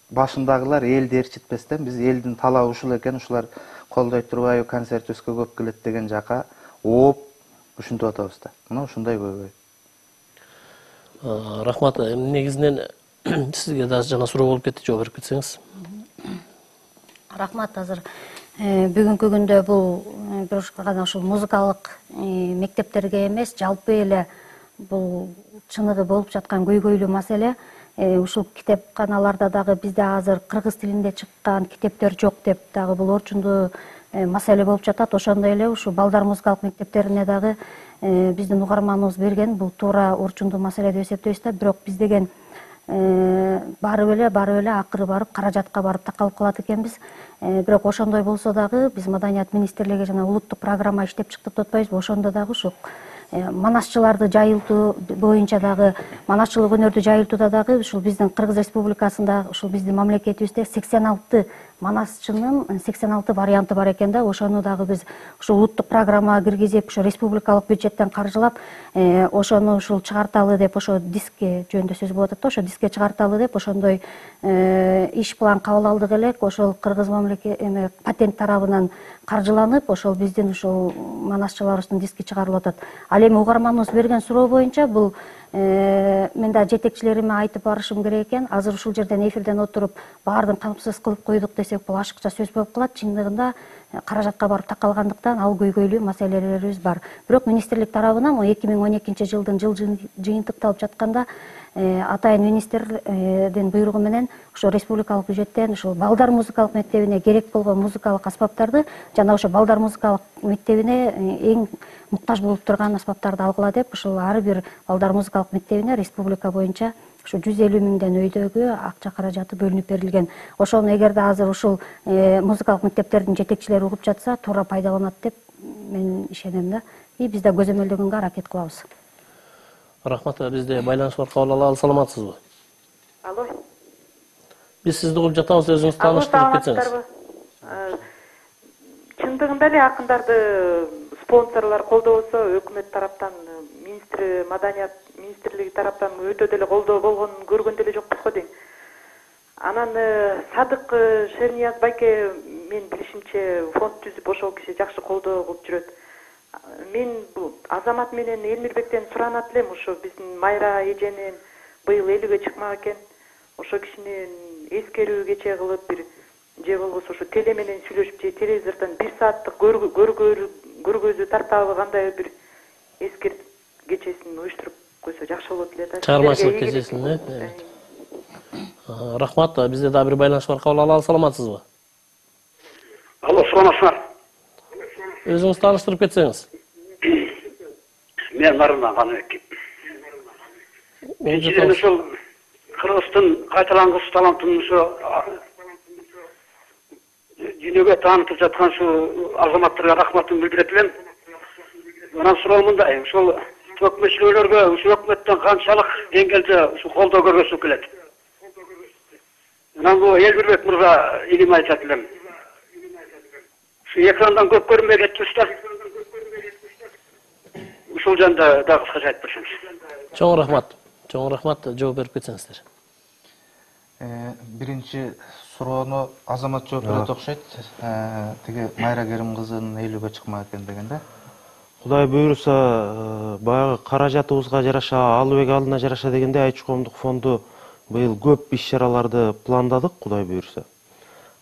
башындагылар элди ээрчитпестен биз элдин талабы ушул экен, ушулар колдой турбайбы, концертибизге көп келет деген жака ооп ушинтип атабыз да. Мына ушундай көйгөй. Рахмат. Негизинен сизге да жана суроо болуп кетти, жооп берип кетсеңиз. Рахмат. Азыр бүгүнкү күндө бул бир гана ушул музыкалык мектептерге эмес, жалпы эле бул чыныгы болуп жаткан көйгөйлүү маселе. Ушул китепканаларда дагы бизде азыр кыргыз тилинде чыккан китептер жок деп дагы бул орчундуу маселе болуп жатат. Ошондой эле ушу балдар музыкалык мектептерине дагы биздин угарманыбыз берген, бул туура орчундуу маселе деп эсептейбиз да. Бирок биз деген барып эле акыры барып каражатка барып такалып калат экенбиз. Бирок ошондой болсо дагы биз Маданият министрлиги жана улуттук программа иштеп чыктык деп атпайбызбы? Ошондо дагы ушу манасчыларды жайылтуу боюнча дагы, манасчылык өнөрдү жайылтууда дагы ушул биздин Кыргыз Республикасында, ушул биздин мамлекетибизде 86 манасчынын 86 варианты бар экен да. Ошону дагы биз ушу улуттук программага киргизип, ушу республикалык бюджеттен каржылап, ошону ушул чыгарталы деп, ошо диске жөнүндө сөз болуп атат да, ошо диске чыгарталы деп ошондой иш план кабыл алдык элек. Ошол кыргыз мамлекет патент тарабынан каржыланып, ошол биздин ушул манасчыларыбыздын диски чыгарылып атат. Ал эми угарманыбыз берген суроо боюнча бул мен да жетекчилериме айтып барышым керек экен. Азыр ушул жерден эфирден отуруп баардыгын камсыз кылып койдук десек, бул ашыкча сөз болуп калат. Чындыгында каражатка барып такалгандыктан ал көйгөйлүү маселелерибиз бар. Бирок министрлик тарабынан 2012 жылдын жыл жыйынтыкталып жатканда атайын министрдин буйругу менен ошо республикалык бюджеттен ошол балдар музыкалык мектебине керек болгон музыкалык аспаптарды жана ошо балдар музыкалык мектебине эң муктаж болуп турган аспаптарды алгыла деп, ушул ар бир балдар музыкалык мектебине республика боюнча ушу 150 миңден өйдөгү акча каражаты бөлүнүп берилген. Ошону эгерде азыр ушул музыкалык мектептердин жетекчилери угуп жатса, туура пайдаланат деп мен ишенем да. И биз да көзөмөлдөгөнгө аракет кылабыз. Рахмат, бизде байланыш бар, кабыл алалы. Саламатсызбы? Алло. Биз сизди угуп жатабыз, өзүңүз тааныштырып кетсеңиз. Чындыгында эле акындарды спонсорлор колдобосо, өкмөт тараптан, маданият министрлиги тараптан өтө деле колдоо болгонун көргөн деле жокпуз го дейм. Анан Садык Шернияз байке мен билишимче фонд түзүп ошол киши жакшы колдоо кылып жүрөт. Мен бул Азамат менен Элмирбектен суранат элем, ошо биздин Майра эженин быйыл 50-ге чыкмак экен. Ошо кишинин эскерүү кече кылып бир же болбосо ошо теле менен сүйлөшүп, же телевизордон 1 сааттык көргөзүү тартабы кандай бир эскер кечесин уюштуруп койсо жакшы болот эле да. Чыгармачылык кечесин, Рахмат, бизде да бир байланыш бар, кабыл алалы. Саламатсызбы? Алло, саламатсыздар. Өзүңүз тааныштырып кетсеңиз. Мен Нарымдан Каныбек. Биринчиден ошол Кыргыздын кайталангыс талантын ошо дүйнөгө таанытып жаткан ушу азаматтарга рахматымды билдирет элем. Анан суроо мындай, ошол өкмөтчүлөргө ушу өкмөттөн канчалык деңгээлде ушу колдоо көргөзүп келет. Анан бул Элбирбек мырза илим айтат элем. Ушу экрандан көп көрүнбөй кетпиз да. Ушул жөнүндө дагы кыскача айтып берсеңиз. Чоң рахмат. Чоң рахмат, жооп берип кетсеңиздер. Биринчи суроону Азамат жооп берет окшойт. Тиги Майра Керим кызынын 50-ге чыкмак экен деген да. Кудай буйруса, баягы каражатыбызга жараша, Алыбек алдына жараша дегенде Айтыш коомдук фонду быйыл көп иш-чараларды пландадык, Кудай буйруса.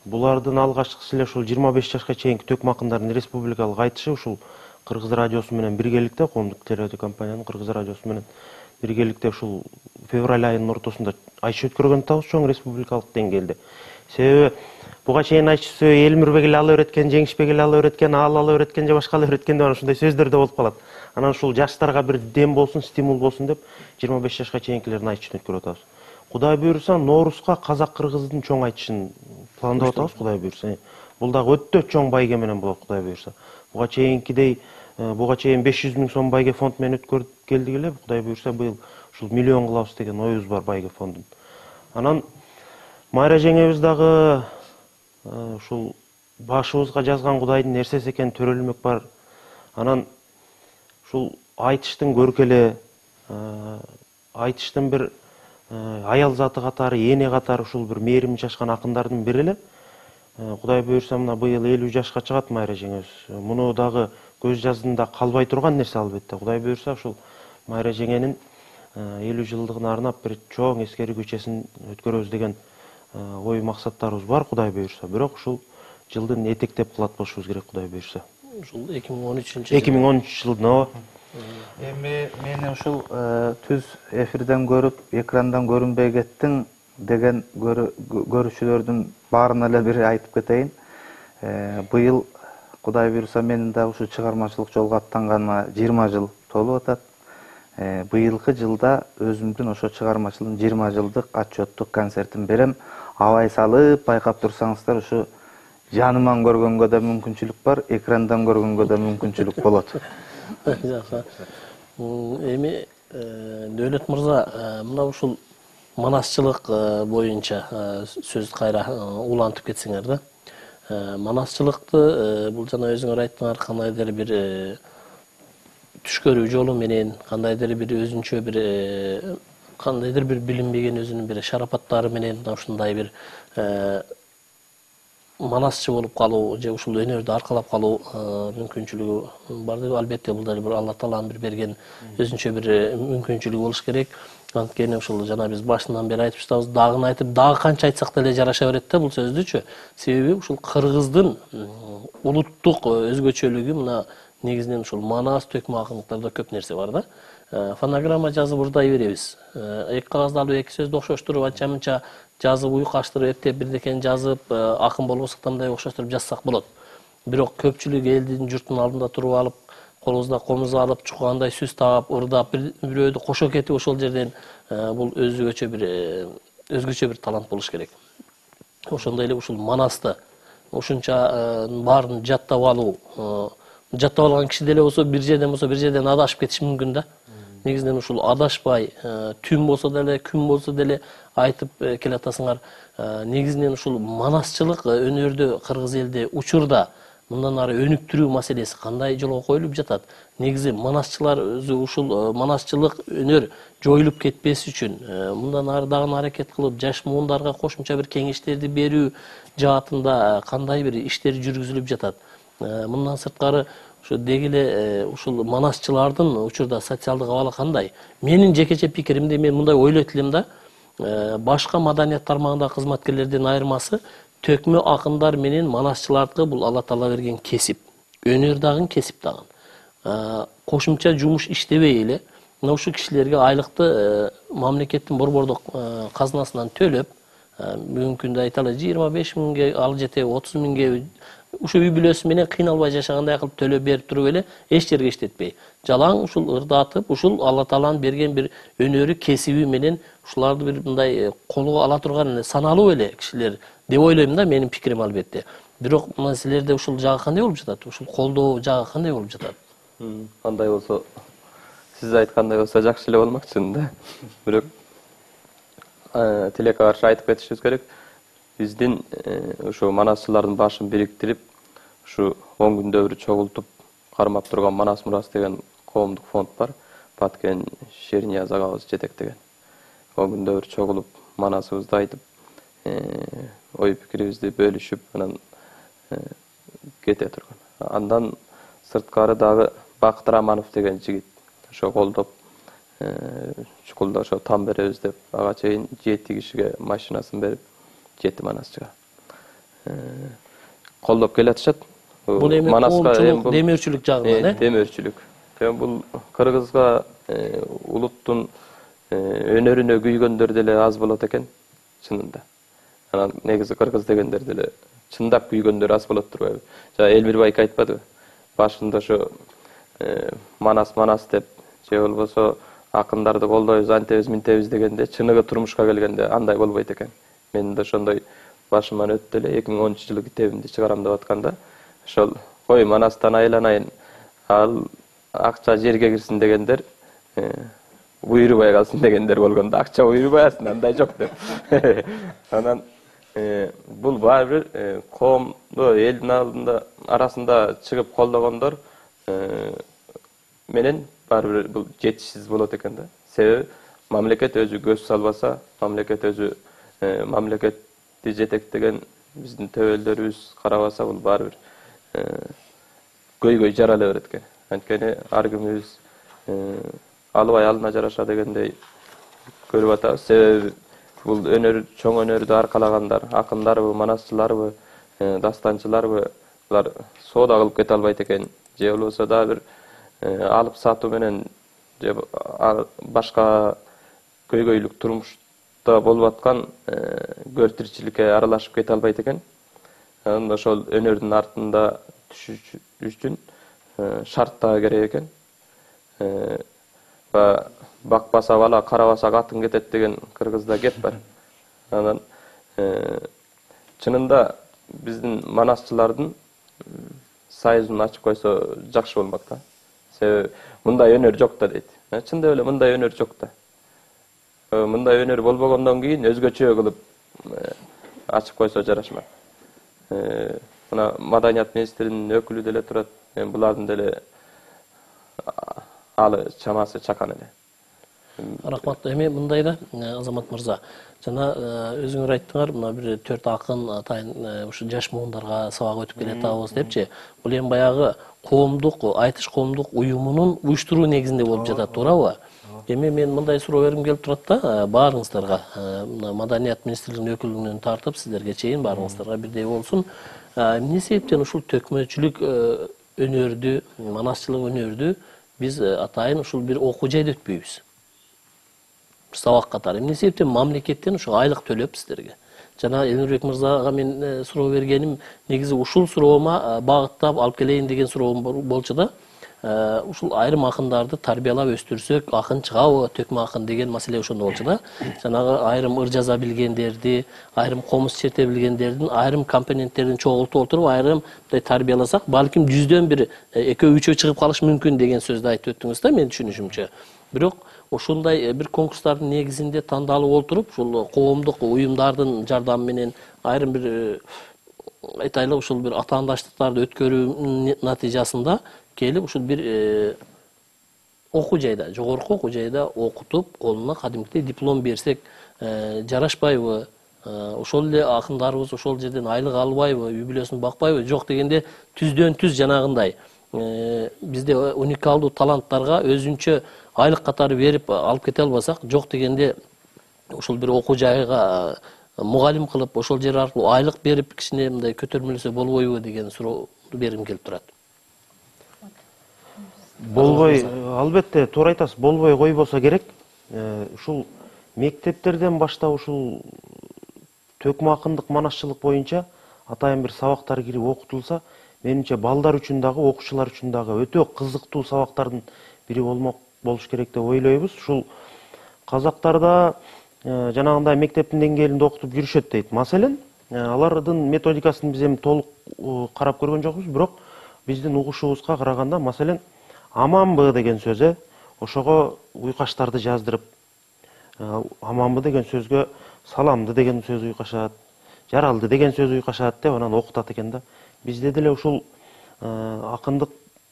Булардын алгачкысы эле ушул 25 жашка чейинки төкмө акындардын республикалык айтышы ушул Кыргыз радиосу менен биргеликте, коомдук телерадио компаниянын Кыргыз радиосу менен биргеликте ушул февраль айынын ортосунда айтыш өткөргөн атабыз чоң республикалык деңгээлде. Себеби буга чейин айтышты Элмирбек эле ала өткөн, Жеңишбек эле ала өткөн, ала өткөн же башка ала өткөн деп ушундай сөздөр да болуп калат. Анан ушул жаштарга бир дем болсун, стимул болсун деп 25 жашка чейинкилердин айтышын өткөрүп атабыз. Кудай буйруса, Ноорузга казак-кыргыздын чоң айтышын пландап атабыз, Кудай буйруса. Бул дагы өтө чоң байге менен болот, Кудай буйруса. Буга чейин 500 миң сом байге фонд менен өткөрүп келдик эле, Кудай буйруса быйыл ушул миллион кылабыз деген оюбуз бар байге фондун. Анан Майра жеңебиз дагы ушул башыбызга жазган Кудайдын нерсеси экен төрөлмөк бар. Анан ушул айтыштын көркеле, айтыштын бир аял заты катары, эне катары ушул бир мээрим чачкан акындардын бири эле. Кудай буйруса мына быйыл 50 жашка чыгат Майра жеңебиз. Муну дагы көз жаздында калбай турган нерсе албетте. Кудай буйруса ушул Майра жеңенин 50 жылдыгына арнап бир чоң эскерүү кечесин өткөрөбүз деген ой максаттарыбыз бар, Кудай буйруса. Бирок ушул жылдын этектеп кылат болушубуз керек, Кудай буйруса. Ушул 2013 жылдын Эми мени ушул түз эфирден көрүп, экрандан көрүнбөй кеттиң деген көрүүчүлөрдүн баарына эле бир айтып кетейин. Быйыл Кудай буйруса менин да ушу чыгармачылык жолго аттанганыма 20 жыл толуп атат. Быйылкы жылда өзүмдүн ошо чыгармачылыктын 20 жылдык отчеттук концертин берем. Абай салып байкап турсаңыздар, ушу жаныман көргөнгө да мүмкүнчүлүк бар, экрандан көргөнгө да мүмкүнчүлүк болот. Жакшы. Эми Дөөлөт мырза, мына ушул манасчылык боюнча сөз кайра улантып кетсеңер да. Манасчылыкты бул жана өзүңөр айттыңар, кандайдыр бир түшкөрүү жолу менен, кандайдыр бир өзүнчө бир кандайдыр бир билинбеген өзүнүн бир шарапаттары менен ушундай бир манасчы болуп калуу же ушул өнөрдү аркалап калуу мүмкүнчүлүгү бар деп, албетте бул дагы бир Алла Тааланын бир берген өзүнчө бир мүмкүнчүлүгү болуш керек. Анткени ушул жана биз башынан бери айтып жатабыз, дагы айтып, дагы канча айтсак деле жараша берет да бул сөздүчү. Себеби ушул кыргыздын улуттук өзгөчөлүгү мына негизинен ушул манас төкмө акындыктарда көп нерсе бар да. Фонограмма жазып урдай беребиз. Эки кагазды алып эки сөздү окшоштуруп анча-мынча жазып уйкаштырып эптеп бирдекени жазып акын болбосок да мындай окшоштуруп жазсак болот. Бирок көпчүлүк элдин журттун алдында туруп алып, колубузда комуз алып, чукандай сүз таап, ырдап бирөөдү кошо кетип ошол жерден бул өзгөчө бир талант болуш керек. Ошондой эле ушул манасты ушунча баарын жаттап алуу, жаттап алган киши деле болсо бир жерден адашып кетиш мүмкүн да. Негизинен ушул адашпай, түн болсо деле, күн болсо деле айтып келатасыңар. Негизинен ушул манасчылык өнөрдө кыргыз элде учурда мындан ары өнүктүрүү маселеси кандай жолго коюлуп жатат? Негизи манасчылар өзү ушул манасчылык өнөр жоюлуп кетпеси үчүн мындан ары дагы аракет кылып, жаш муундарга кошумча бир кеңештерди берүү жаатында кандай бир иштер жүргүзүлүп жатат? Мындан сырткары ошо деги эле ушул манасчылардын учурда социалдык абалы кандай? Менин жекече пикиримде мен мындай ойлойт элем да, башка маданият тармагындагы кызматкерлердин айырмасы төкмө акындар менен манасчылардыкы бул Алла Таала берген кесип. Өнөр дагы кесип дагы. Кошумча жумуш иштебей эле мына ушул кишилерге айлыкты мамлекеттин борбордук казынасынан төлөп, бүгүнкү күндө айталы 25 миңге, ал жете 30 миңге ушул үй бүлөсү менен кыйналбай жашагандай кылып төлөп берип туруп эле эч жерге иштетпей, жалаң ушул ырдатып, ушул Алла Тааланын берген бир өнөрү, кесиби менен ушуларды бир мындай колго ала турган саналуу эле кишилер деп ойлойм да, менин пикирим албетте. Бирок мына силерде ушул жагы кандай болуп жатат? Ушул колдоо жагы кандай болуп жатат? Кандай болсо, сиз айткандай болсо жакшы эле болмок чынында. Бирок тилекке каршы айтып кетишибиз керек. Биздин ушу манасчылардын башын бириктирип, ушу 10 күндө бир чогултуп кармап турган Манас Мурас деген коомдук фонд бар. Баткен Шернияз агабыз жетектеген. 10 күндө бир чогулуп манасыбызды айтып, ой пикирибизди бөлүшүп, анан кете турган. Андан сырткары дагы Бакыт Раманов деген жигит ошо колдоп, чукулда ошо там беребиз деп, ага чейин 7 кишиге машинасын берип, 7 манасчыга колдоп келатышат. Бул эми коомчулук, демөөрчүлүк жагынан, демөөрчүлүк. Бул кыргызга улуттун өнөрүнө күйгөндөр деле аз болот экен, чынында. Анан негизи кыргыз дегендер деле чындап күйгөндөр аз болот турбайбы? Жана Элмир байке айтпадыбы? Башында ошо манас деп, же болбосо акындарды колдойбуз, антебиз, минтебиз дегенде, чыныгы турмушка келгенде андай болбойт экен. Мен да ошондой башыман өттү эле 2010-жылы китебимди чыгарам деп атканда, ошол кой манастан айланайын, ал акча жерге кирсин дегендер, буйрубай калсын дегендер болгондо, акча буйрубайсың, андай жок деп. Анан бул баары бир коомду элдин алдында арасында чыгып колдогондор менен баары бир бул жетишсиз болот экен да. Себеби мамлекет өзү көз салбаса, мамлекет өзү мамлекетти жетектеген биздин төбөлдөрүбүз карабаса, бул баары бир көйгөй жарала берет экен. Анткени ар кимибиз албай алына жараша дегендей көрүп атабыз. Себеби бул өнөр, чоң өнөрдү аркалагандар, акындарбы, манасчыларбы, дастанчыларбы, булар соода кылып кете албайт экен. Же болбосо да бир алып сатуу менен же башка көйгөйлүк турмушта болуп аткан көр тиричиликке аралашып кете албайт экен. Анан ошол өнөрдүн артында түшүш үчүн шарт дагы керек экен. Бакпаса бала, карабаса катын кетет деген кыргызда кеп бар. Анан чынында биздин манасчылардын сайызын ачып койсо жакшы болмок да. Себеби мындай өнөр жок да дейт. Чындап эле мындай өнөр жок да. мындай өнөр болбогондон кийин өзгөчө кылып ачып койсо жарашмак. Мына маданият министринин өкүлү деле турат. Мен булардын деле алы чамасы чакан эле. Рахмат. Эми мындай да, Азамат мырза, жана өзүңөр айттыңар, мына бир 4 акын атайын ушу жаш муундарга сабак өтүп келатабыз депчи. Бул эми баягы коомдук, айтыш коомдук уюмунун уюштуруу негизинде болуп жатат, туурабы? Эми мен мындай суроо бергим келип турат да, баарыңыздарга, маданият министрлигинин өкүлүнөн тартып сиздерге чейин баарыңыздарга бирдей болсун. Эмне себептен ушул төкмөчүлүк өнөрдү, манасчылык өнөрдү биз атайын ушул бир окуу жайда өтпөйбүз? Бир сабак катары. Эмне себептен мамлекеттен ушул айлык төлөп сиздерге? Жана Элнурбек мырзага мен суроо бергеним негизи ушул суроома багыттап алып келейин деген суроом болчу да. Ушул айрым акындарды тарбиялап өстүрсөк, акын чыгабы, төкмө акын деген маселе ошондо болчу да. Жанагы айрым ыр жаза билгендерди, айрым комуз черте билгендердин айрым компоненттерин чогултуп отуруп, айрым тарбияласак, балким 100дөн бир 2-3 чыгып калышы мүмкүн деген сөздү айтып өттүңүз да, мен түшүнүшүмчө. Бирок ошондой бир конкурстардын негизинде тандалып отуруп, ушул коомдук уюмдардын жардамы менен айрым бир айтайлы ушул бир атаандаштыктарды өткөрүү натыйжасында келип ушул бир окуу жайда, жогорку окуу жайда окутуп, колуна кадимкидей диплом берсек жарашпайбы? Ошол эле акындарыбыз ошол жерден айлык албайбы, үй бүлөсүн бакпайбы? Жок дегенде түздөн түз жанагындай бизде уникалдуу таланттарга өзүнчө айлык катары берип алып кете албасак, жок дегенде ушул бир окуу жайга мугалим кылып, ошол жер аркылуу айлык берип кичине мындай көтөрмөлөсө болбойбу деген суроо бергим келип турат. Болбой, албетте, туура айтасыз, болбой койбосо керек. Ушул мектептерден баштап ушул төкмө акындык, манасчылык боюнча атайын бир сабактар кирип окутулса, менимче балдар үчүн дагы, окуучулар үчүн дагы өтө кызыктуу сабактардын бири болуш керек деп ойлойбуз. Ушул казактарда жанагындай мектептин деңгээлинде окутуп жүрүшөт дейт. Маселен, алардын методикасын биз эми толук карап көргөн жокпуз, бирок биздин угушубузга караганда, маселен, аманбы деген сөзү, ошого уйкаштарды жаздырып, аманбы деген сөзгө саламды деген сөз уйкашат, жаралды деген сөз уйкашат деп анан окутат экен да. Бизде деле ушул акындык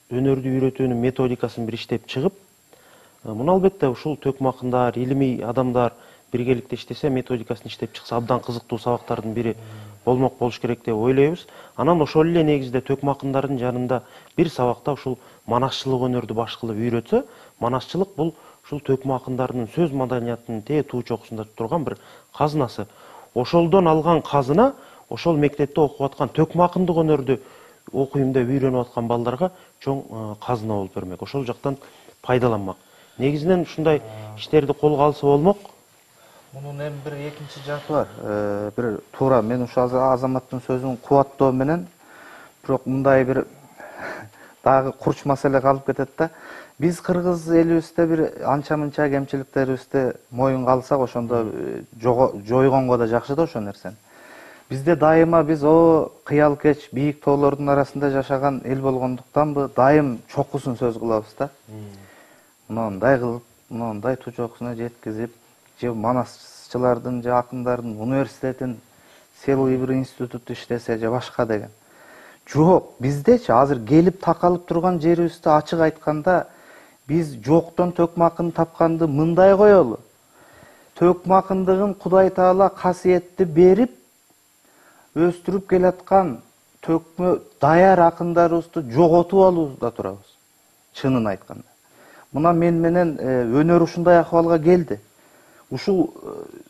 өнөрдү үйрөтүүнүн методикасын бир иштеп чыгып, муну албетте ушул төкмө акындар, илимий адамдар биргеликте иштесе, методикасын иштеп чыкса, абдан кызыктуу сабактардын бири болуш керек деп ойлойбуз. Анан ошол эле негизде төкмө акындардын жанында бир сабакта ушул манасчылык өнөрдү баш кылып үйрөтсө, манасчылык бул ушул төкмө акындардын сөз маданиятынын туу чокусунда турган бир казынасы. Ошолдон алган казына ошол мектепте окуп аткан төкмө акындык өнөрдү окуйм деп үйрөнүп аткан балдарга чоң казына болуп бермек. Ошол жактан пайдаланмак. Негизинен ушундай иштерди колго алса болмок. Мунун эми бир экинчи жагы бар. Бир туура мен ушу Азаматтын сөзүн кубаттоо менен, бирок мындай бир дагы курч маселе калып кетет да. Биз кыргыз элибизде бир анча-мынча кемчиликтерибизди моюнга алсак, ошондо жойгонго да жакшы да ошол нерсени. Бизде дайыма биз кыялкеч, бийик тоолордун арасында жашаган эл болгондуктанбы, дайым чокусун сөз кылабыз да. Мындай кылып, мындай туу чокусуна жеткизип, же манасчылардын, же акындардын университетин, сыйлуу бир институт иштесе, же башка деген. Жок, биздечи азыр келип такалып турган жерибизде ачык айтканда, биз жоктон төкмө акын тапканды мындай коелу. Төкмө акындыгын Кудай Таала касиетти берип, өстүрүп келаткан төкмө даяр акындарыбызды жоготуп алууда турабыз. Чынын айтканда. Мына мен менен өнөр ушундай акыбалга келди. Ушул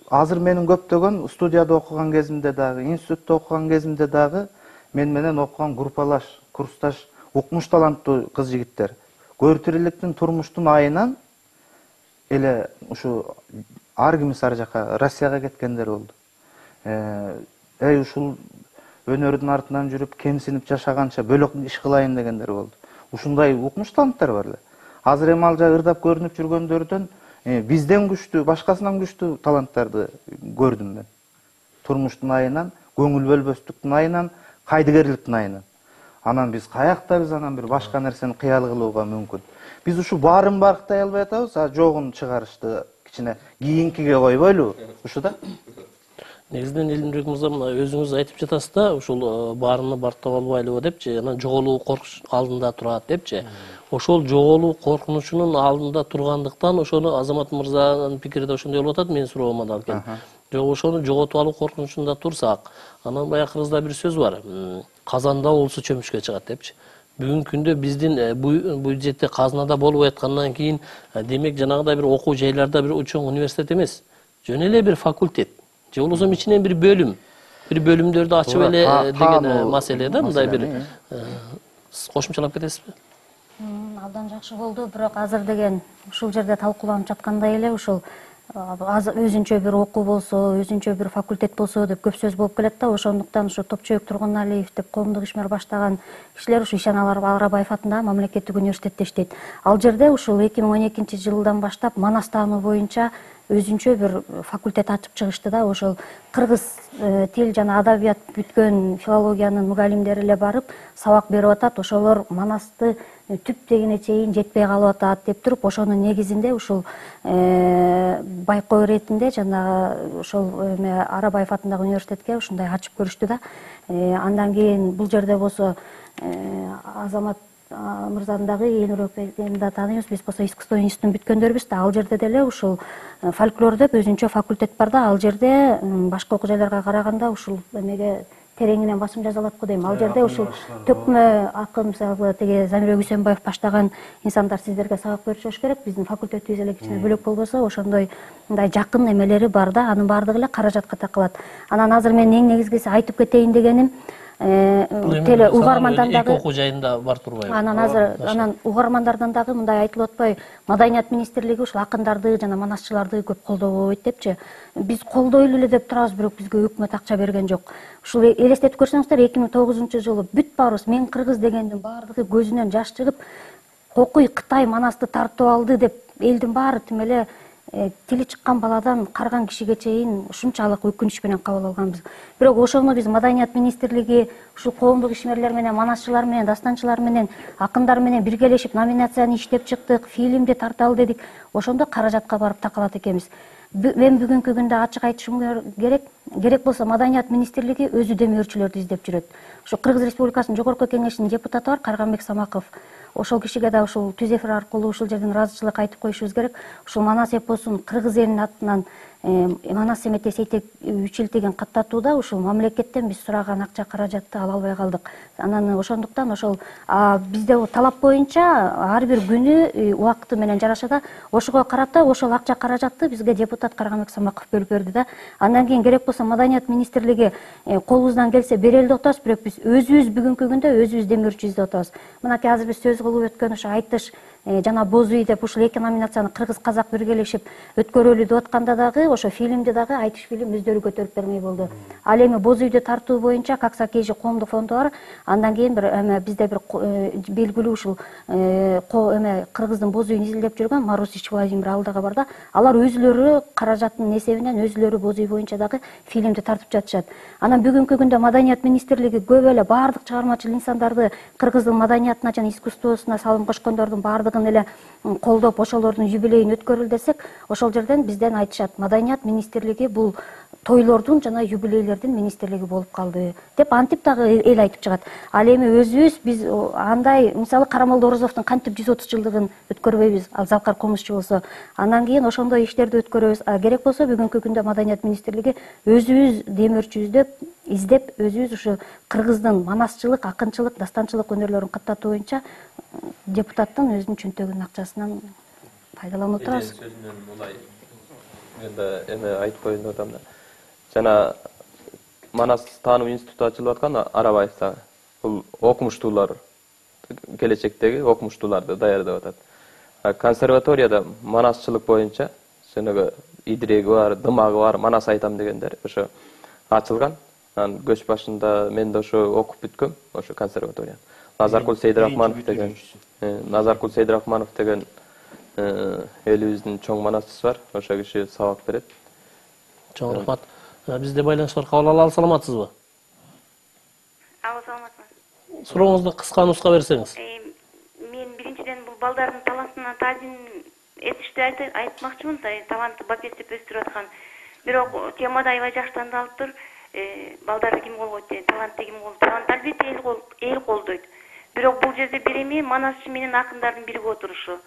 азыр менин көптөгөн студияда окуган кезимде дагы, институтта окуган кезимде дагы мен менен окуган группалаш, курсташ, укмуш таланттуу кыз жигиттер көр тириликтин, турмуштун айынан эле ушу ар кимиси ар жака Россияга кеткендер болду. Ушул өнөрдүн артынан жүрүп, кемсинип жашаганча бөлөк иш кылайын дегендер болду. Ушундай укмуш таланттар бар эле. Азыр эми ал жагы ырдап көрүнүп жүргөндөрдөн бизден күчтүү, башкасынан күчтүү таланттарды көрдүм мен. Турмуштун айынан, көңүл бөлбөстүктүн айынан, кайдыгерликтин айынан. Анан биз каякта биз анан бир башка нерсени кыял кылууга мүмкүн. Биз ушу баарын барктай албай атабыз, жогун чыгарышты кичине кийинкиге койбойлубу ушу да. Негизинен Элимбек мырза, мына өзүңүз айтып жатасыз да, ушул баарыны бартап албайлыбы депчи, анан жоголуу коркуш алдында турат депчи. Ошол жоголуу коркунучунун алдында тургандыктан ошону Азамат мырзанын пикири да ошондой болуп атат, менин суроома да алып келип. Жок, ошону жоготуп алуу коркунучунда турсак, анан баягы кыргызда бир сөз бар. Казанда болсо чөмүшкө чыгат депчи. Бүгүнкү күндө биздин бюджетте казынада болуп аткандан кийин, демек жанагыдай бир окуу жайларда бир чоң университет эмес, жөн эле бир факультет же болбосо ичинен бир бөлүмдөрдү ачып эле деген маселе да, мындай бир кошумчалап кетесизби? Абдан жакшы болду, бирок азыр деген ушул жерде талкууланып жаткандай эле ушул өзүнчө бир окуу болсо, өзүнчө бир факультет болсо деп көп сөз болуп келет да. Ошондуктан ушу Топчоюк Тургуналиев деп коомдук ишмер баштаган кишилер ушу Ишан Арабаев атындагы мамлекеттик университетте иштейт. Ал жерде ушул 2012-жылдан баштап манас таануу боюнча өзүнчө бир факультет ачып чыгышты да. Ошол кыргыз тил жана адабият бүткөн филологиянын мугалимдери эле барып сабак берип атат. Ошолор манасты түп дегене чейин жетпей калып атат деп туруп, ошонун негизинде ушул байкоо иретинде жанагы ошол Арабаев атындагы университетке ушундай ачып көрүштү да. Андан кийин бул жерде болсо Азамат мырзаны дагы ээн да тааныйбыз, биз болсо искусство институтун бүткөндөрбүз да. Ал жерде деле ушул фольклор деп өзүнчө факультет бар да. Ал жерде башка окуу жайларга караганда ушул эмеге тереңинен басым жасалат го дейм. Ал жерде ушул төкмө акын, мисалы тиги Замирбек Үсөнбаев баштаган инсандар сиздерге сабак беришиш керек. Биздин факультетибиз эле кичине бөлөк болбосо, ошондой мындай жакын эмелери бар да. Анын баардыгы эле каражатка такалат. Анан азыр мен эң негизгиси айтып кетейин дегеним, теле угармандан дагы окуу жайында бар турбайбы? Анан угармандардан дагы мындай айтылып атпайбы, Маданият министрлиги ушул акындарды жана манасчыларды көп колдобойт депчи. Биз колдойлу эле деп турабыз, бирок бизге өкмөт акча берген жок. Ушул элестетип көрсөңүздөр, 2009-жылы бүт баарыбыз мен кыргыз дегендин баардыгы көзүнөн жаш чыгып, Кокуй Кытай манасты тартып алды деп элдин баары тим эле тили чыккан баладан карган кишиге чейин ушунчалык өкүнүч менен кабыл алганбыз. Бирок ошону биз Маданият министрлиги ушул коомдук ишмерлер менен, манасчылар менен, дастанчылар менен, акындар менен биргелешип номинацияны иштеп чыктык, фильмди тарталы дедик. Ошондо каражатка барып такалат экенбиз. Мен бүгүнкү күндө ачык айтышым керек болсо Маданият министрлиги өзү демөөрчүлөрдү издеп жүрөт. Ошо Кыргыз Республикасынын жогорку кеңешинин депутаты бар, Карганбек Самаков. Ошол кишиге да ушул түз эфир аркылуу ушул жерден ыраазычылык айтып коюшубуз керек. Ушул манас эпосун кыргыз элинин атынан манас семете сейтек үчилтигин каттатууда ушул мамлекеттен биз сураган акча каражатты ала албай калдык. Анан ошондуктан ошол бизде талап боюнча ар бир күнү убакыты менен жараша да ошого карата ошол акча каражатты бизге депутат Карганбек Самаков бөлүп берди да. Андан кийин керек болсо Маданият министрлиги колубуздан келсе берели деп атабыз, бирок биз өзүбүз бүгүнкү күндө өзүбүз демөөрчү издеп атабыз. Мынакей азыр биз сөз кылып өткөн ошо айтыш жана боз үй деп ушул эки номинацияны кыргыз казак биргелешип өткөрөлү деп атканда дагы ошо фильмди дагы айтыш фильм өздөрү көтөрүп бермей болду. Ал эми боз үйдү тартуу боюнча Каксакежи коомдук фонду бар. Андан кийин бизде бир белгилүү ушул кыргыздын боз үйүн изилдеп жүргөн Марусич Владимир ал дагы бар да. Алар өзүлөрү каражаттын эсебинен өзүлөрү боз үй боюнча дагы фильмди тартып жатышат. Анан бүгүнкү күндө Маданият министрлиги көп эле баардык чыгармачыл инсандарды кыргыздын маданиятына жана искусствосуна салым кошкондордун баардыгын эле колдоп, ошолордун юбилейин өткөрүл десек, ошол жерден бизден айтышат, Маданият министрлиги бул тойлордун жана юбилейлердин министрлиги болуп калды деп антип дагы эл айтып чыгат. Ал эми өзүбүз биз андай, мисалы Карамолдо Орозовдун кантип 130 жылдыгын өткөрбөйбүз, ал Залкар Комузчу болсо. Андан кийин ошондой иштерди өткөрөбүз. Керек болсо бүгүнкү күндө Маданият министрлиги өзүбүз демөөрчү издеп, өзүбүз ушу кыргыздын манасчылык, акынчылык, дастанчылык өнөрлөрүн каттатуу боюнча депутаттын өзүнүн чөнтөгүнүн акчасынан пайдаланып турабыз. Сөзүнөн мулай мен да эме айтып коеюн деп атам да. Жана Манас таануу институту ачылып аткан Арабаевда бул окумуштуулар, келечектеги окумуштууларды даярдап атат. Консерваторияда манасчылык боюнча жанагы идиреги бар, дымагы бар, манас айтам дегендер ошо ачылган. Анан көч башында мен да ошо окуп бүткөм, ошо консерваторияны. Назаркул Сейдирахманов деген элибиздин чоң манасчысы бар. Ошо киши сабак берет. Чоң рахмат. Бизде байланыш бар, кабыл ала саламатсызбы? Алла саламатсызбы. Сурооңузду кыска нуска берсеңиз. Мен биринчиден бул балдардын талантына таазим этишти айтмакчымын, табанды бапестеп өстүрүп аткан. Бирок темада аябай жакшы тандалыптыр. Балдарды ким колгойт деген, талантты ким колгойт? Талант албетте эл колдойт. Бирок бул жерде бир эми манасчы менен акындардын бирге отурушу.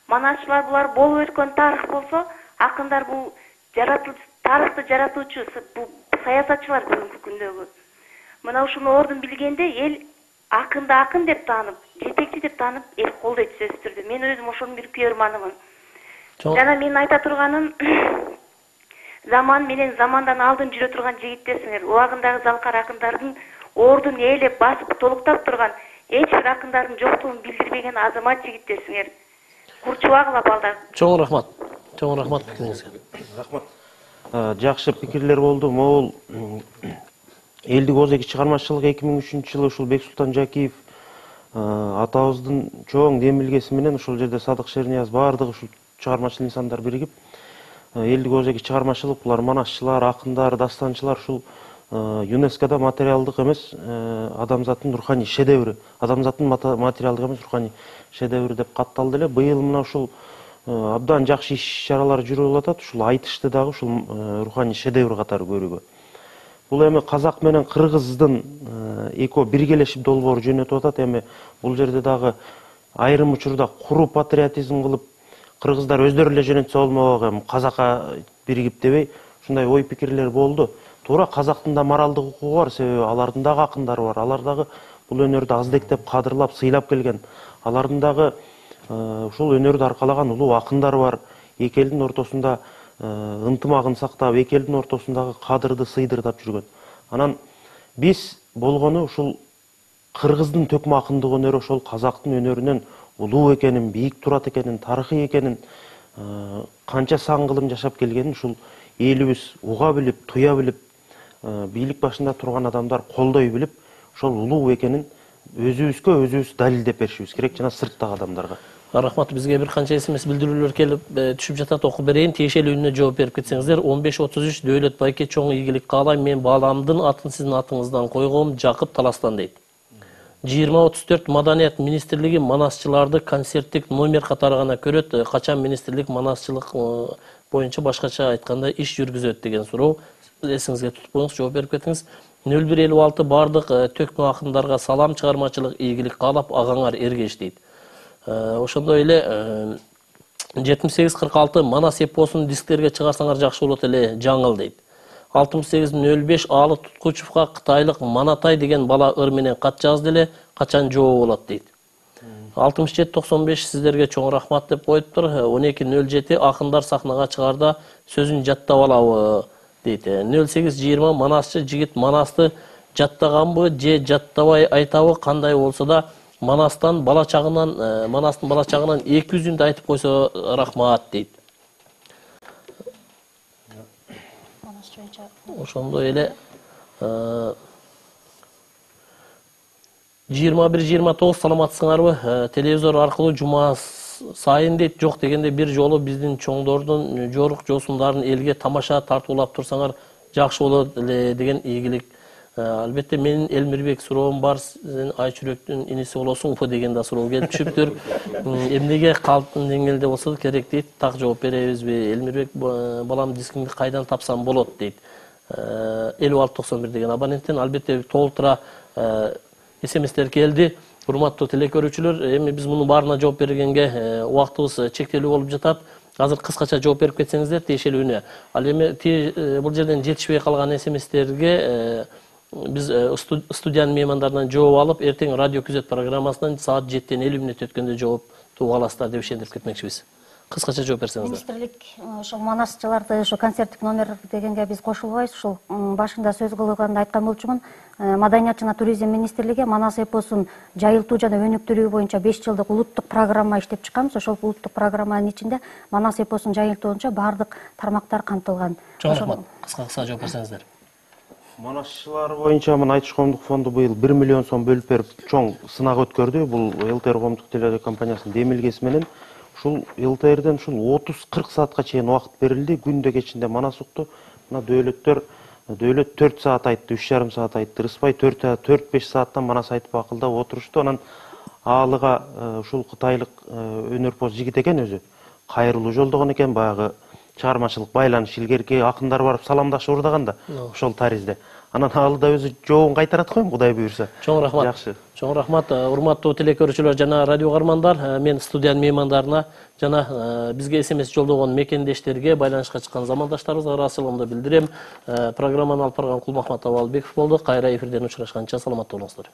Манасчылар булар болуп өткөн тарых болсо, акындар бул тарыхты жаратуучу бул саясатчылар бүгүнкү күндөгү. Мына ушуну ордун билгенде эл акынды акын деп таанып, жетекчи деп таанып, эл колдойт сөзсүз түрдө. Мен өзүм ошонун бир күйөрманымын. Жана менин айта турганым, заман менен замандан алдын жүрө турган жигиттерсиңер. Убагындагы залкар акындардын ордун ээлеп, басып, толуктап турган эч бир акындардын жоктугун билдирбеген азамат жигиттерсиңер. Курчубагыла балдар. Чоң рахмат. Чоң рахмат пикириңизге. Рахмат. Жакшы пикирлер болду. Могул элдик озеки чыгармачылык 2003-жылы ушул Бексултан Жакиев атабыздын чоң демилгеси менен ушул жерде Садык Шернияз баардыгы ушул чыгармачыл инсандар биригип элдик озеки чыгармачылык, булар манасчылар, акындар, дастанчылар ушул ЮНЕСКОда материалдык эмес адамзаттын руханий шедеври, адамзаттын материалдык эмес руханий шедеври деп катталды эле. Быйыл мына ушул абдан жакшы иш-чаралар жүрүп атат. Ушул айтышты дагы ушул руханий шедевр катары көрүүгө. Бул эми казак менен кыргыздын экөө биргелешип долбоор жөнөтүп атат. Эми бул жерде дагы айрым учурда куру патриотизм кылып кыргыздар өздөрү эле жөнөтсө болмок, эми казакка биригип дебей ушундай ой пикирлер болду. Туура казактын да моралдык укугу бар, себеби алардын дагы акындары бар. Алар дагы бул өнөрдү аздектеп, кадырлап, сыйлап келген. Алардын дагы ушул өнөрдү аркалаган улуу акындар бар. Эки элдин ортосунда ынтымагын сактап, эки элдин ортосундагы кадырды сыйдыртап жүргөн. Анан биз болгону ушул кыргыздын төкмө акындык өнөрү ошол казактын өнөрүнөн улуу экенин, бийик турат экенин, тарыхый экенин, канча сан кылым жашап келгенин ушул элибиз уга билип, туя билип, бийлик башында турган адамдар колдой билип, ошол улуу экенин өзүбүз далилдеп беришибиз керек жана сырттагы адамдарга. Рахмат, бизге бир канча СМС билдирүүлөр келип түшүп жатат, окуп берейин. Тиешелүүнүнө жооп берип кетсеңиздер. 1533 Дөөлөт байке чоң ийгилик каалайм. Мен бааламдын атын сиздин атыңыздан койгом, Жакып Таластан дейт. 2034 Маданият министрлиги манасчыларды концерттик номер катары гана көрөт. Качан министрлик манасчылык боюнча башкача айтканда иш жүргүзөт деген суроо. Эсиңизге тутуп коюңуз, жооп берип кетиңиз. 0156 бардык төкмө акындарга салам, чыгармачылык ийгилик каалап, агаңар эргеш дейт. Ошондой эле 7846 Манас эпосун дисктерге чыгарсаңар жакшы болот эле, жаңыл дейт. 6805 Аалы Туткучевга кытайлык Манатай деген бала ыр менен кат жазды эле, качан жооп болот дейт. 6795 сиздерге чоң рахмат деп коюптур. 1207 акындар сахнага чыгарда сөзүн жаттап алабы дейт. 0820 манасчы жигит манасты жаттаганбы же жаттабай айтабы, кандай болсо да Манастын бала чагынан 200-үндү айтып койсо рахмат дейт. Ошондой эле 21-29 саламатсыңарбы? Телевизор аркылуу жума сайын дейт. Жок дегенде бир жолу биздин чоңдордун жорук жосундарын элге тамаша тартуулап турсаңар жакшы болот эле деген ийгилик. Албетте менин Элмирбек суроом бар, сен Айчүрөктүн иниси болосуңбу деген да суроо келип түшүптүр. Эмнеге калктын деңгээлде болсо керек дейт, так жооп беребизби? Элмирбек балам дискиңди кайдан тапсам болот дейт. 5691 деген абоненттен албетте толтура СМСтер келди. Урматтуу телекөрүүчүлөр, эми биз мунун баарына жооп бергенге убактыбыз чектелүү болуп жатат. Азыр кыскача жооп берип кетсеңиздер тиешелүүнө. Ал эми бул жерден жетишпей калган СМСтерге биз студиянын меймандарынан жооп алып, эртең радио күзөт программасынан саат 7-тен 50 мүнөт өткөндө жоопту аласыздар деп ишендирип кетмекчибиз. Кыскача жооп берсеңиздер. Министрлик ошол манасчыларды ошо концерттик номер дегенге биз кошулбайбыз. Ушул башында сөз кылганда айткан болчумун. Маданият жана туризм министрлиги Манас эпосун жайылтуу жана өнүктүрүү боюнча 5 жылдык улуттук программа иштеп чыкканбыз. Ошол улуттук программанын ичинде Манас эпосун жайылтуу боюнча баардык тармактар камтылган. Чоң рахмат. Кыска жооп берсеңиздер. Манасчылар боюнча мына Айтыш коомдук фонду быйыл 1 миллион сом бөлүп берип чоң сынак өткөрдү. Бул ЛТР коомдук телекомпаниясынын демилгеси менен ушул ЛТРден ушул 30-40 саатка чейин убакыт берилди. Күндө кечинде Манас укту. Мына Дөөлөт 4 саат айтты, 3,5 саат айтты. Рыспай 4-5 сааттан Манас айтып акылдап отурушту. Анан Аалыга ушул кытайлык өнөрпоз жигит экен өзү. кайрылуу жолдогон экен, баягы чыгармачылык байланыш илгерки акындар барып саламдашып урдаганда ошол таризде. Анан ал да өзү жообун кайтарат го эми, Кудай буйрса. Чоң рахмат. Жакшы. Чоң рахмат. Урматтуу телекөрүүчүлөр жана радио каармандар, мен студиянын меймандарына жана бизге СМС жолдогон мекендештерге, байланышка чыккан замандаштарыбызга ыраазычылыгымды билдирем. Программаны алып барган Кулмахмат Абалбеков болду. Кайра эфирден учурашканча саламатта болуңуздар.